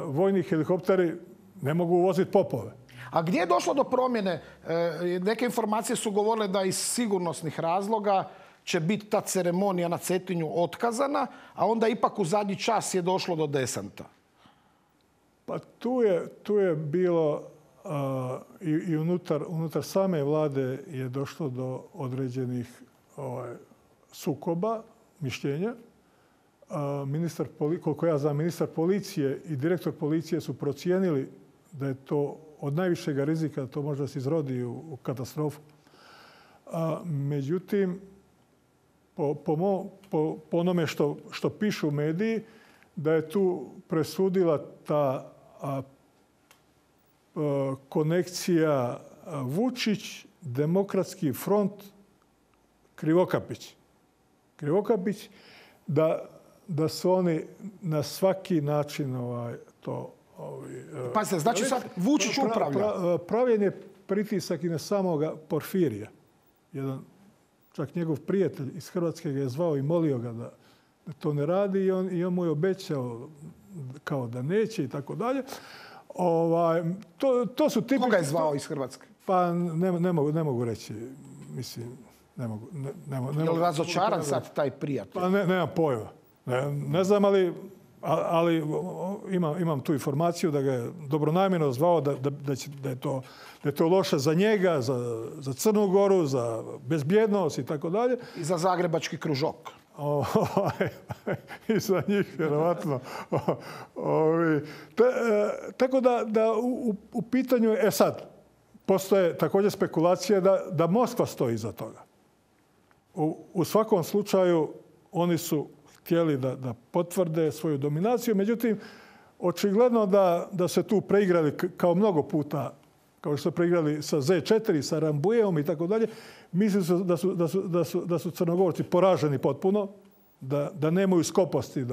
vojni helikopteri ne mogu voziti popove. A gdje je došlo do promjene? Neke informacije su govorile da iz sigurnosnih razloga će biti ta ceremonija na Cetinju otkazana, a onda ipak u zadnji čas je došlo do desanta. Pa tu je bilo i unutar same vlade je došlo do određenih sukoba, mišljenja. Koliko ja znam, ministar policije i direktor policije su procijenili da je to od najvišega rizika, da to možda se izrodi u katastrofu. Međutim, po onome što pišu mediji, da je tu presudila ta konekcija Vučić, Demokratski front, Krivokapić. Krivokapić, da su oni na svaki način to... Pazite, znači sad Vučić upravlja. Pravljen je pritisak i na samoga Porfirija. Jedan, čak njegov prijatelj iz Hrvatske ga je zvao i molio ga da to ne radi i on mu je obećao kao da neće i tako dalje. To su tipični... Koga je zvao iz Hrvatske? Pa ne mogu reći. Mislim, ne mogu. Je li razočaran sad taj prijatelj? Pa nemam pojma. Ne znam, ali imam tu informaciju da ga je dobronamjerno zvao da je to loše za njega, za Crnu Goru, za bezbjednost i tako dalje. I za zagrebački kružok. I za njih, vjerovatno. Tako da u pitanju je, sad, postoje također spekulacije da Moskva stoji iza toga. U svakom slučaju oni su htjeli da potvrde svoju dominaciju, međutim, očigledno da se tu preigrali kao mnogo puta, kao što su preigrali sa Z4, sa Rambujevom i tako dalje. Mislim da su Crnogorci poraženi potpuno, da nemaju skoposti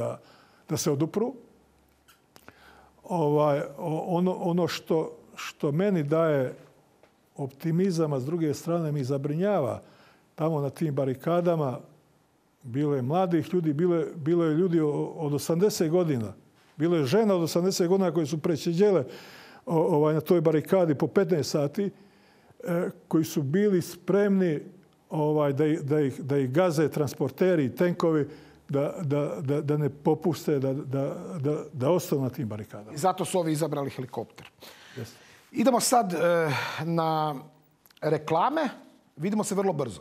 da se odupru. Ono što meni daje optimizam, a s druge strane mi zabrinjava, tamo na tim barikadama bilo je mladih ljudi, bilo je ljudi od 80 godina. Bilo je žena od 80 godina koje su prečeđele na toj barikadi po 15 sati, koji su bili spremni da ih gaze transporteri i tenkovi, da ne popuste, da ostanu na tim barikadama. I zato su ovi izabrali helikopter. Yes. Idemo sad na reklame. Vidimo se vrlo brzo.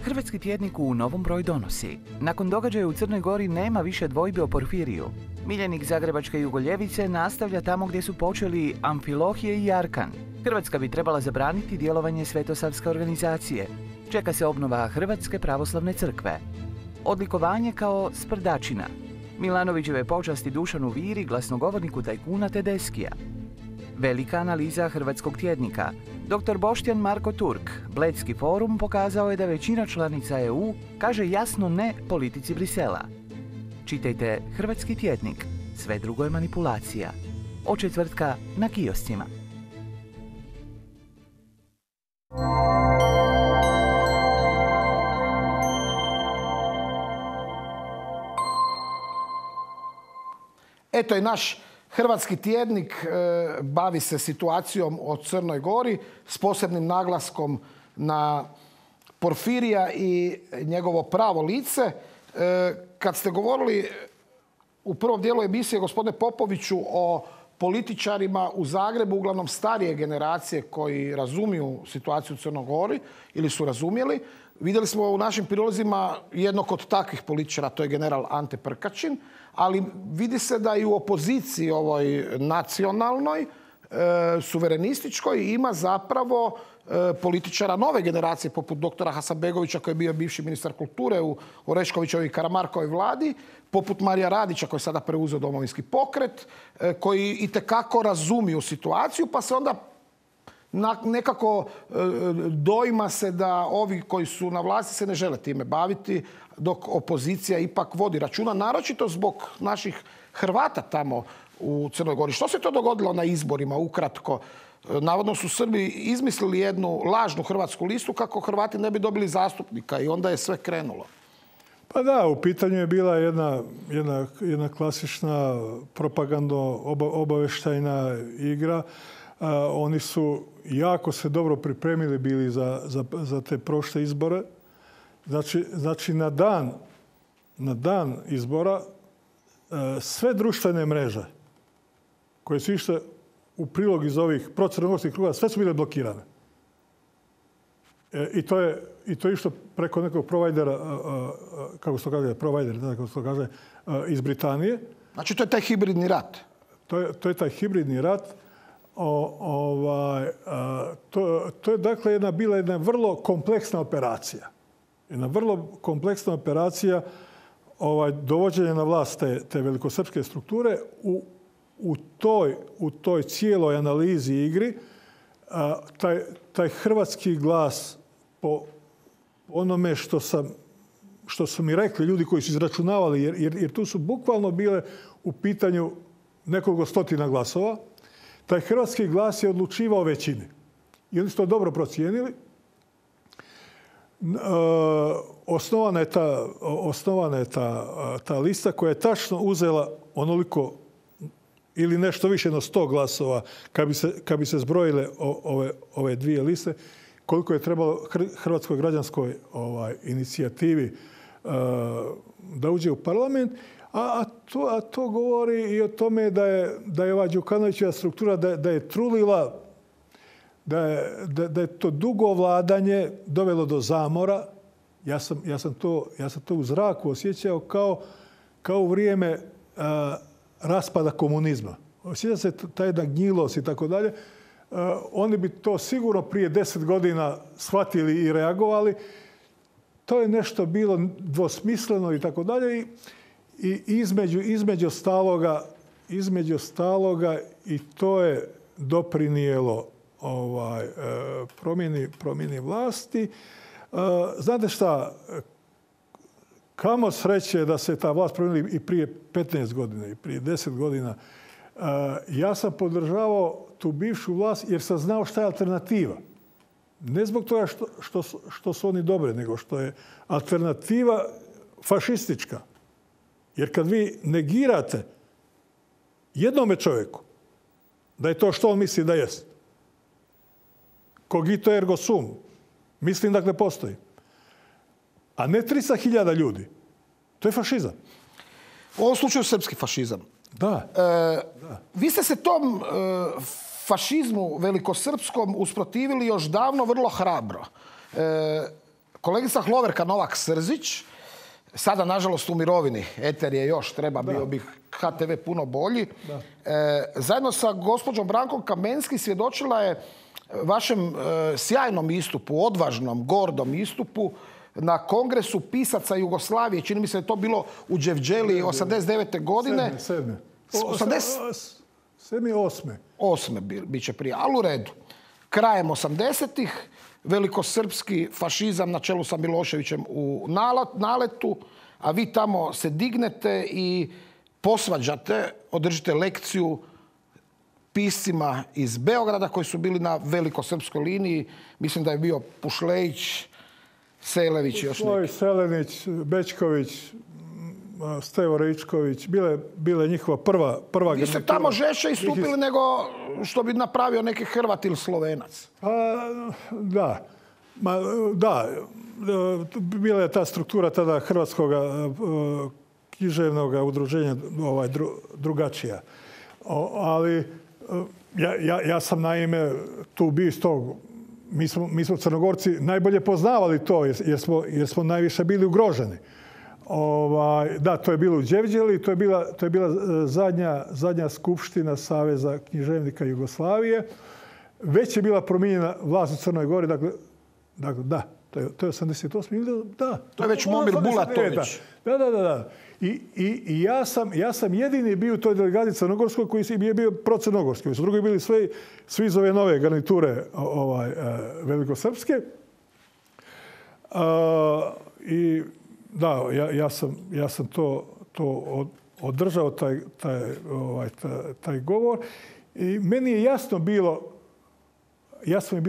Hrvatski tjednik u novom broju donosi. Nakon događaja u Crnoj Gori nema više dvojbe o Porfiriju. Miljenik zagrebačke Jugoljevice nastavlja tamo gdje su počeli Amfilohije i Arkan. Hrvatska bi trebala zabraniti djelovanje svetosavske organizacije. Čeka se obnova Hrvatske pravoslavne crkve. Odlikovanje kao sprdačina. Milanovićeve počasti Dušanu Viri, glasnogovorniku tajkuna Tedeskija. Velika analiza hrvatskog tjednika. Dr. Boštjan Marko Turk, Bledski forum, pokazao je da većina članica EU kaže jasno ne politici Brisela. Čitajte Hrvatski tjednik. Sve drugo je manipulacija. Od četvrtka na kioscima. Eto i naš Hrvatski tjednik bavi se situacijom o Crnoj Gori s posebnim naglaskom na Porfirija i njegovo pravo lice. Kad ste govorili u prvom dijelu emisije, gospodine Popoviću, o političarima u Zagrebu, uglavnom starije generacije koji razumiju situaciju u Crnoj Gori ili su razumjeli, vidjeli smo u našim prilozima jednog od takvih političara, to je general Ante Prkačin, ali vidi se da i u opoziciji ovoj nacionalnoj, suverenističkoj, ima zapravo političara nove generacije, poput doktora Hasanbegovića, koji je bio bivši ministar kulture u Oreškovićevoj i Karamarkovoj vladi, poput Marija Radića, koji je sada preuzeo Domovinski pokret, koji itekako razumiju situaciju, pa se onda nekako doima se da ovi koji su na vlasti se ne žele time baviti, dok opozicija ipak vodi računa, naročito zbog naših Hrvata tamo u Crnoj Gori. Što se to dogodilo na izborima, ukratko? Navodno su Srbi izmislili jednu lažnu hrvatsku listu kako Hrvati ne bi dobili zastupnika i onda je sve krenulo. Pa da, u pitanju je bila jedna klasična propagandno-obaveštajna igra. Oni su jako se dobro pripremili bili za te prošle izbore. Znači na dan izbora sve društvene mreže koje su išle u prilog iz ovih procrnogorskih kruga, sve su bile blokirane. I to je išlo preko nekog provajdera, kako se to kaže, kako se to kaže, iz Britanije. Znači to je taj hibridni rat? To je taj hibridni rat. To je dakle bila jedna vrlo kompleksna operacija. Jedna vrlo kompleksna operacija dovođenja na vlast te velikosrpske strukture. U toj cijeloj analizi igri taj hrvatski glas po onome što su mi rekli ljudi koji su izračunavali, jer tu su bukvalno bile u pitanju nekoliko stotina glasova. taj hrvatski glas je odlučivao većini. I oni su to dobro procijenili. Osnovana je ta lista koja je tačno uzela onoliko ili nešto više od 100 glasova kad bi se zbrojile ove dvije liste, koliko je trebalo Hrvatskoj građanskoj inicijativi da uđe u parlament. A to govori i o tome da je ova Đukanovićeva struktura da je trulila, da je to dugo vladanje dovelo do zamora. Ja sam to u zraku osjećao kao u vrijeme raspada komunizma. Osjeća se ta jedna gnjilost i tako dalje. Oni bi to sigurno prije 10 godina shvatili i reagovali. To je nešto bilo dvosmisleno i tako dalje. I između staloga i to je doprinijelo promjeni vlasti. Znate šta, kamo sreće da se ta vlast promijenila i prije 15 godina i prije 10 godina. Ja sam podržavao tu bivšu vlast jer sam znao šta je alternativa. Ne zbog toga što su oni dobri, nego što je alternativa fašistička. Jer kad vi negirate jednome čovjeku da je to što on misli da jest, cogito ergo sum, mislim dakle postoji, a ne 300.000 ljudi, to je fašizam. U ovom slučaju srpski fašizam. Da. Vi ste se tom fašizmu velikosrpskom usprotivili još davno vrlo hrabro. Kolegica Hloverka Novak-Srzić, sada nažalost u mirovini, eter je još, bio bi HTV puno bolji, zajedno sa gospođom Brankom Kamenski svjedočila je vašem sjajnom istupu, odvažnom, gordom istupu na Kongresu pisaca Jugoslavije. Čini mi se da je to bilo u Đevđeli 89. godine. 8. bit će prije, ali u redu. Krajem 80-ih, velikosrpski fašizam na čelu sa Miloševićem u naletu, a vi tamo se dignete i posvađate, održite lekciju piscima iz Beograda koji su bili na velikosrpskoj liniji. Mislim da je bio Pušlejić, Selević i još neki. Selenić, Bečković, Stevo Ričković, bila je njihova prva garnitura. Vi ste tamo žešće istupili nego što bi napravio neki Hrvat ili Slovenac. Da. Bila je ta struktura tada Hrvatskog književnog udruženja drugačija. Ali ja sam naime tu bio iz tog. Mi smo Crnogorci najbolje poznavali to jer smo najviše bili ugroženi. Da, to je bilo u Đevđeli, to je bila zadnja skupština Saveza književnika Jugoslavije. Već je bila promijenjena vlast u Crnoj Gori, dakle da, to je 88. Da. To je već Momir Bulatović. Da. I ja sam jedini bio u toj delegaciji crnogorskoj koji je bio procrnogorski. Su drugi bili svi iz ove nove garniture velikosrpske. I da, ja sam to održao, taj govor. I meni je jasno bilo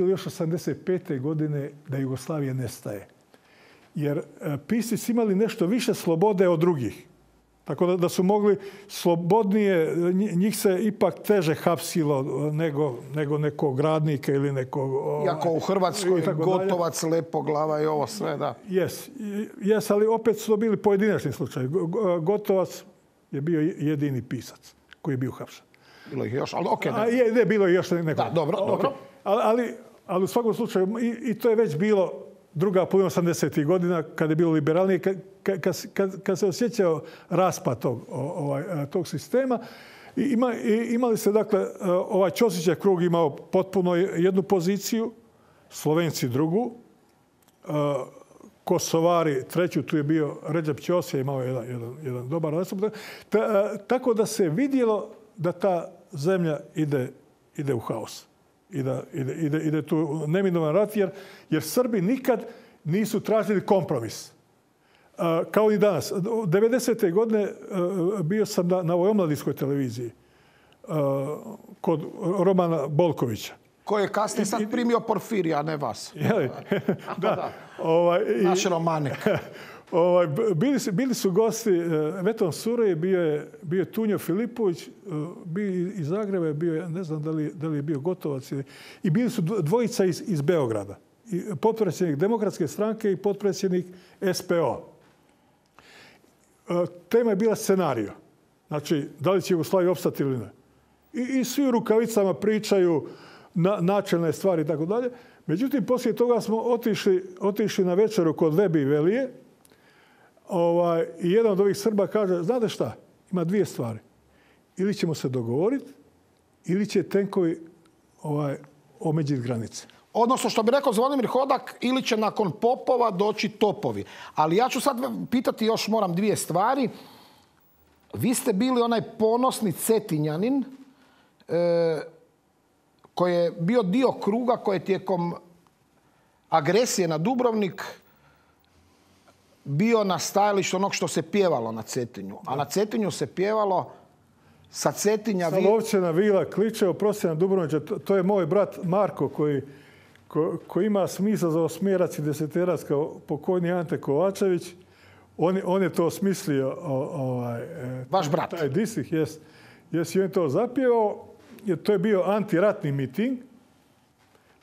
još 85. godine da Jugoslavija nestaje. Jer pisci su imali nešto više slobode od drugih. Tako da su mogli slobodnije, njih se ipak teže hapsilo nego nekog radnika ili nekog... Iako u Hrvatskoj Gotovac, Lepoglava i ovo sve, da. Jes, ali opet su to bili pojedinačni slučaj. Gotovac je bio jedini pisac koji je bio hapšen. Bilo ih još, ali okej. Ne, bilo je još neko. Da, dobro. Ali u svakom slučaju, i to je već bilo druga polovina 80. godina, kada je bilo liberalnije, kad se osjećao raspad tog sistema. Imali ste, dakle, ovaj Ćosićev krug imao potpuno jednu poziciju, Slovenci drugu, Kosovari treću, tu je bio Redžep Ćosija, imao jedan dobar nastup. Tako da se vidjelo da ta zemlja ide u haos. Ide tu neminovan rat, jer Srbi nikad nisu tražili kompromis. Kao i danas. 90. godine bio sam na ovoj omladinskoj televiziji. kod Romana Bolkovića. Koji je kasnije sad primio Porfirija, a ne vas. Da. Naš Romanik. Bili su gosti Veton Surej, bio je Tunjo Filipović, bio iz Zagreba, ne znam da li je bio Gotovac. I bili su dvojica iz Beograda. Potpredsjednik Demokratske stranke i potpredsjednik SPO. Tema je bila scenario. Znači, da li će Jugoslavija opstati ili ne. I svi u rukavicama pričaju načelne stvari i tako dalje. Međutim, poslije toga smo otišli na večeru kod Vebi i Velije. I jedan od ovih Srba kaže, znate šta, ima dvije stvari. Ili ćemo se dogovoriti, ili će tenkovi omeđiti granice. Odnosno, što bi rekao Zvonimir Hodak, ili će nakon popova doći topovi. Ali ja ću sad pitati još, moram dvije stvari. Vi ste bili onaj ponosni Cetinjanin koji je bio dio kruga koji je tijekom agresije na Dubrovnik bio na stajalištu onog što se pjevalo na Cetinju. A na Cetinju se pjevalo sa Cetinja... Sa Lovćena Vila kliče, oprosti na Dubrovniče, to je moj brat Marko koji ima smisla za osmjerac i deseterac kao pokojni Ante Kovačević. On je to osmislio. Vaš brat? Taj disih, jes. I on je to zapjevao. To je bio antiratni miting.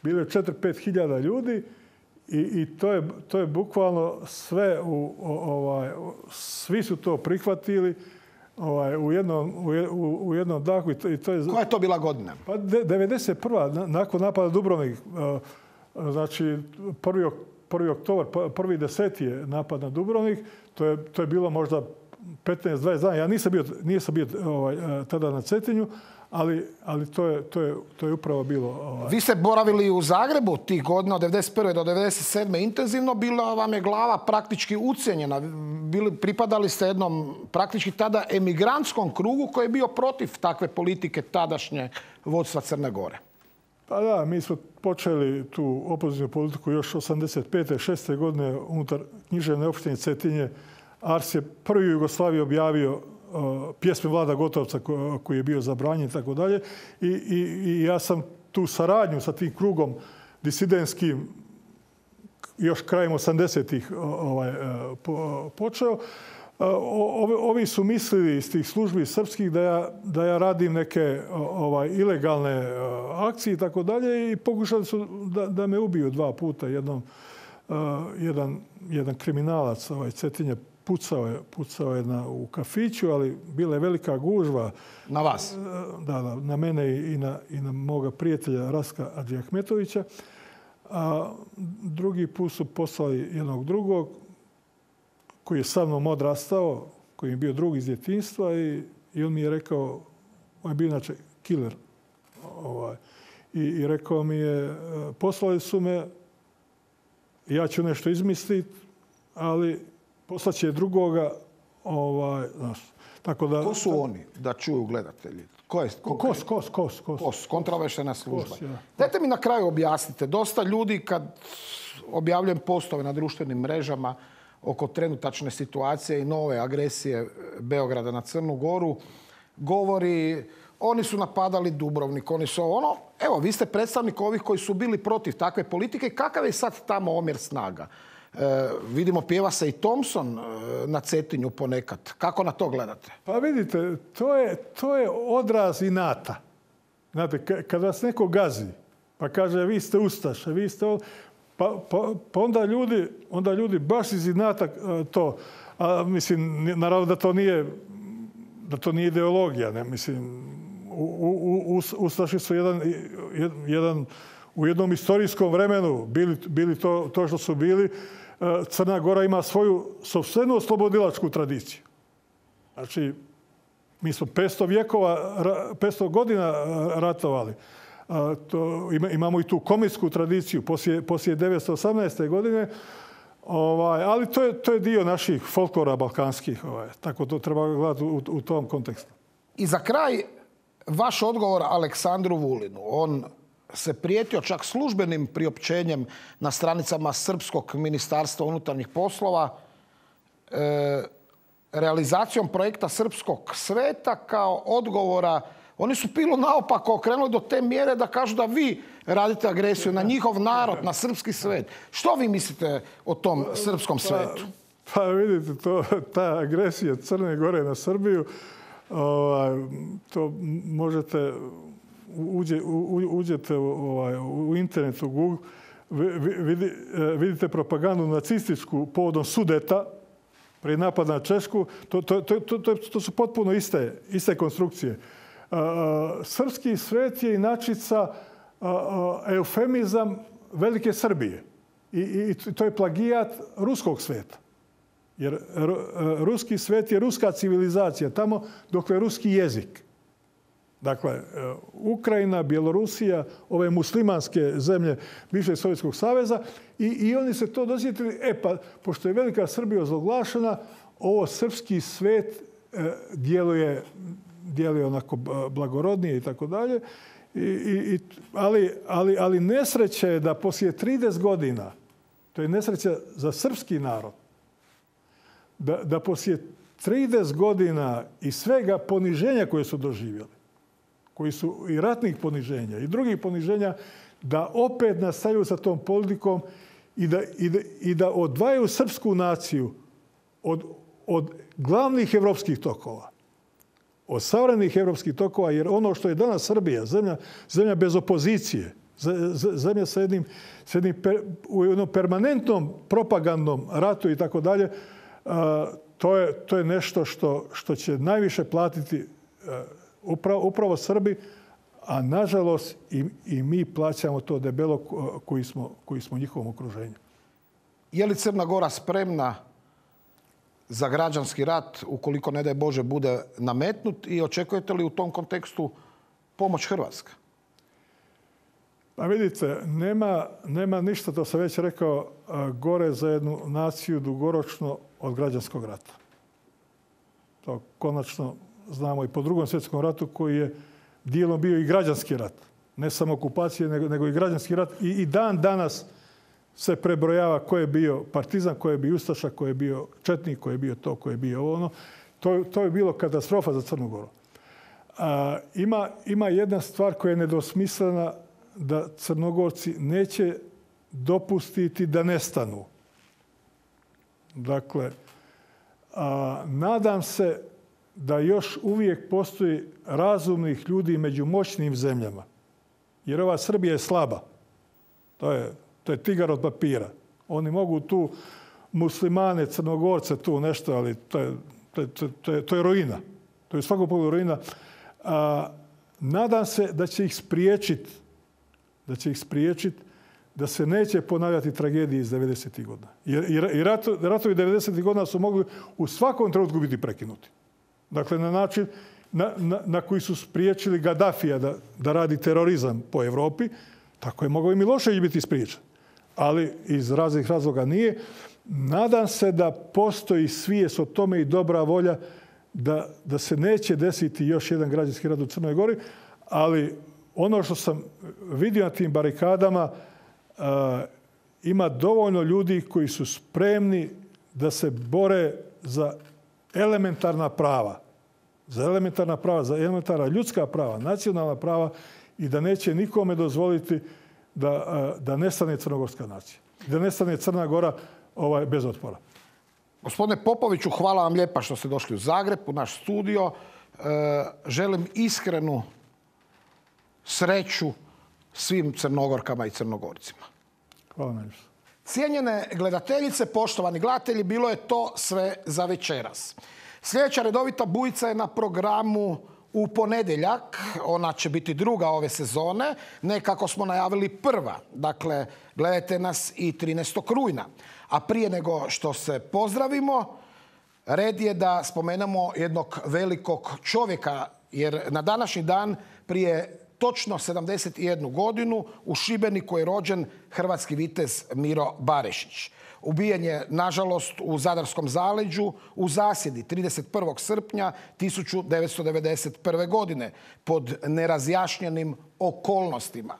Bilo je 4-5 hiljada ljudi. I to je bukvalno sve, svi su to prihvatili u jednom dahu. Koja je to bila godina? Pa 91. nakon napada Dubrovnik. Znači, 1. oktobar, 1.10. je napad na Dubrovnik. To je bilo možda 15-20 dana. Ja nisam bio tada na Cetinju, ali to je upravo bilo... Vi ste boravili u Zagrebu tih godina od 1991. do 1997. intenzivno. Bila vam je glava praktički ucijenjena. Pripadali ste jednom praktički tada emigrantskom krugu koji je bio protiv takve politike tadašnje vodstva Crne Gore. Pa da, mi smo počeli tu opozicijnu politiku još 85. 6. godine unutar književne opštine Cetinje. Ars je prvi u Jugoslaviji objavio pjesme Vlada Gotovca koji je bio zabranjen i tako dalje. I ja sam tu saradnju sa tim krugom disidentskim još krajem 80-ih počeo. Ovi su mislili iz tih službi srpskih da ja radim neke ilegalne akcije i tako dalje i pokušali su da me ubiju 2 puta. Jedan kriminalac Cetinje pucao je u kafiću, ali bila je velika gužva. Na vas? Da, na mene i na moga prijatelja Raska Adžiahmetovića. A drugi put su poslali jednog drugog koji je sa mnom odrastao, koji je bio drug iz djetinjstva i on mi je rekao, on je bio inače killer. I rekao mi je, poslali su me, ja ću nešto izmisliti, ali poslaće drugoga. Tako da, ko su oni, da čuju gledatelji? KOS. Kontraobavještajna služba. Dajte mi na kraju objasnite. Dosta ljudi kad objavljujem postove na društvenim mrežama oko trenutačne situacije i nove agresije Beograda na Crnu Goru, govori oni su napadali Dubrovnik, oni su ono. Evo, vi ste predstavnik ovih koji su bili protiv takve politike. Kakav je sad tamo omjer snaga? Vidimo, pjeva se i Thompson na Cetinju ponekad. Kako na to gledate? Pa vidite, to je odraz inata. Znate, kad vas neko gazi, pa kaže vi ste ustaše, vi ste... Pa onda ljudi baš iz inata to... A, mislim, naravno da to nije ideologija. Ne? Mislim, ustaši su u jednom istorijskom vremenu bili to što su bili. Crna Gora ima svoju sopstvenu oslobodilačku tradiciju. Znači, mi smo 500 godina ratovali. Imamo i tu komitsku tradiciju poslije 1918. godine. Ali to je dio naših folklora balkanskih. Tako to treba gledati u tom kontekstu. I za kraj, vaš odgovor Aleksandru Vulinu. On se prijetio čak službenim priopćenjem na stranicama Srpskog ministarstva unutarnjih poslova realizacijom projekta Srpskog sveta kao odgovora Oni su pilu naopako okrenuli do te mjere da kažu da vi radite agresiju na njihov narod, na srpski svet. Što vi mislite o tom srpskom svetu? Pa vidite, ta agresija Crne Gore na Srbiju, to možete, uđete u internet, u Google, vidite propagandu nacističku povodom Sudeta, prije napada na Češku, to su potpuno iste konstrukcije. Srpski svet je inačica eufemizam Velike Srbije. I to je plagijat ruskog sveta. Jer ruski svet je ruska civilizacija, tamo dok je ruski jezik. Dakle, Ukrajina, Bjelorusija, ove muslimanske zemlje bivšeg Sovjetskog saveza i oni se to dosjetili. Pa, pošto je Velika Srbija ozloglašena, ovo srpski svet djeluje onako blagorodnije i tako dalje. Ali nesreća je da poslije 30 godina, to je nesreća za srpski narod, da poslije 30 godina i svega poniženja koje su doživjeli, koji su i ratnih poniženja i drugih poniženja, da opet nastavljaju sa tom politikom i da odvajaju srpsku naciju od glavnih evropskih tokova, od savremenih evropskih tokova, jer ono što je danas Srbija, zemlja bez opozicije, zemlja sa jednim u jednom permanentnom propagandnom ratu i tako dalje, to je nešto što će najviše platiti upravo Srbi, a nažalost i mi plaćamo to debelo koji smo u njihovom okruženju. Je li Crna Gora spremna za građanski rat ukoliko, ne daj Bože, bude nametnut i očekujete li u tom kontekstu pomoć Hrvatske? Pa vidite, nema ništa, to sam već rekao, gore za jednu naciju dugoročno od građanskog rata. To konačno znamo i po Drugom svjetskom ratu koji je dijelom bio i građanski rat. Ne samo okupacije, nego i građanski rat. I dan danas se prebrojava ko je bio partizan, ko je bio ustaša, ko je bio četnik, ko je bio to, ko je bio ono. To je bilo katastrofa za Crnu Goru. Ima jedna stvar koja je nedosmislena, da Crnogorci neće dopustiti da nestanu. Dakle, nadam se da još uvijek postoji razumnih ljudi među moćnim zemljama. Jer ova Srbija je slaba. To je tigar od papira. Oni mogu tu muslimane, Crnogorce, tu nešto, ali to je ruina. To je svakog pogledu ruina. Nadam se da će ih spriječiti da se neće ponavljati tragedije iz 90. godina. Jer ratovi 90. godina su mogli u svakom trenutku biti prekinuti. Dakle, na način na koji su spriječili Gaddafija da radi terorizam po Evropi, tako je mogao i Milošević biti spriječen. Ali iz raznih razloga nije. Nadam se da postoji svijest o tome i dobra volja da se neće desiti još jedan građanski rat u Crnoj Gori, ali ono što sam vidio na tim barikadama, ima dovoljno ljudi koji su spremni da se bore za elementarna prava. Za elementarna ljudska prava, nacionalna prava i da neće nikome dozvoliti da nestane crnogorska nacija. Da nestane Crna Gora bez otpora. Gospodine Popoviću, hvala vam lijepa što ste došli u Zagreb, u naš studio. Želim iskrenu sreću svim Crnogorkama i Crnogorcima. Hvala najviše. Cijenjene gledateljice, poštovani gledatelji, bilo je to sve za večeras. Sljedeća redovita bujica je na programu u ponedjeljak. Ona će biti druga ove sezone, ne kako smo najavili prva. Dakle, gledajte nas i 13. rujna. A prije nego što se pozdravimo, red je da spomenemo jednog velikog čovjeka, jer na današnji dan prije točno 71 godinu u Šibeniku je rođen hrvatski vitez Miro Barešić. Ubijen je, nažalost, u Zadarskom zaleđu u zasjedi 31. srpnja 1991. godine pod nerazjašnjenim okolnostima.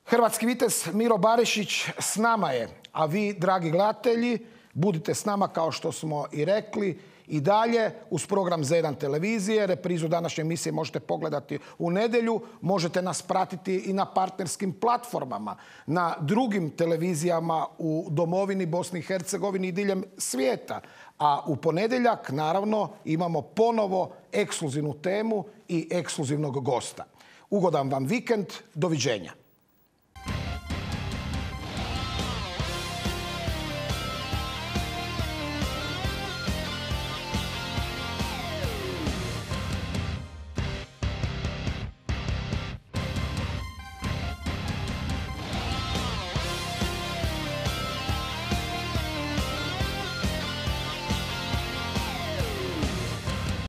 Hrvatski vitez Miro Barešić s nama je, a vi, dragi gledatelji, Budite s nama, kao što smo i rekli, i dalje uz program Z1 televizije. Reprizu današnje emisije možete pogledati u nedjelju. Možete nas pratiti i na partnerskim platformama, na drugim televizijama u domovini Bosni i Hercegovini i diljem svijeta. A u ponedjeljak, naravno, imamo ponovo ekskluzivnu temu i ekskluzivnog gosta. Ugodan vam vikend. Doviđenja.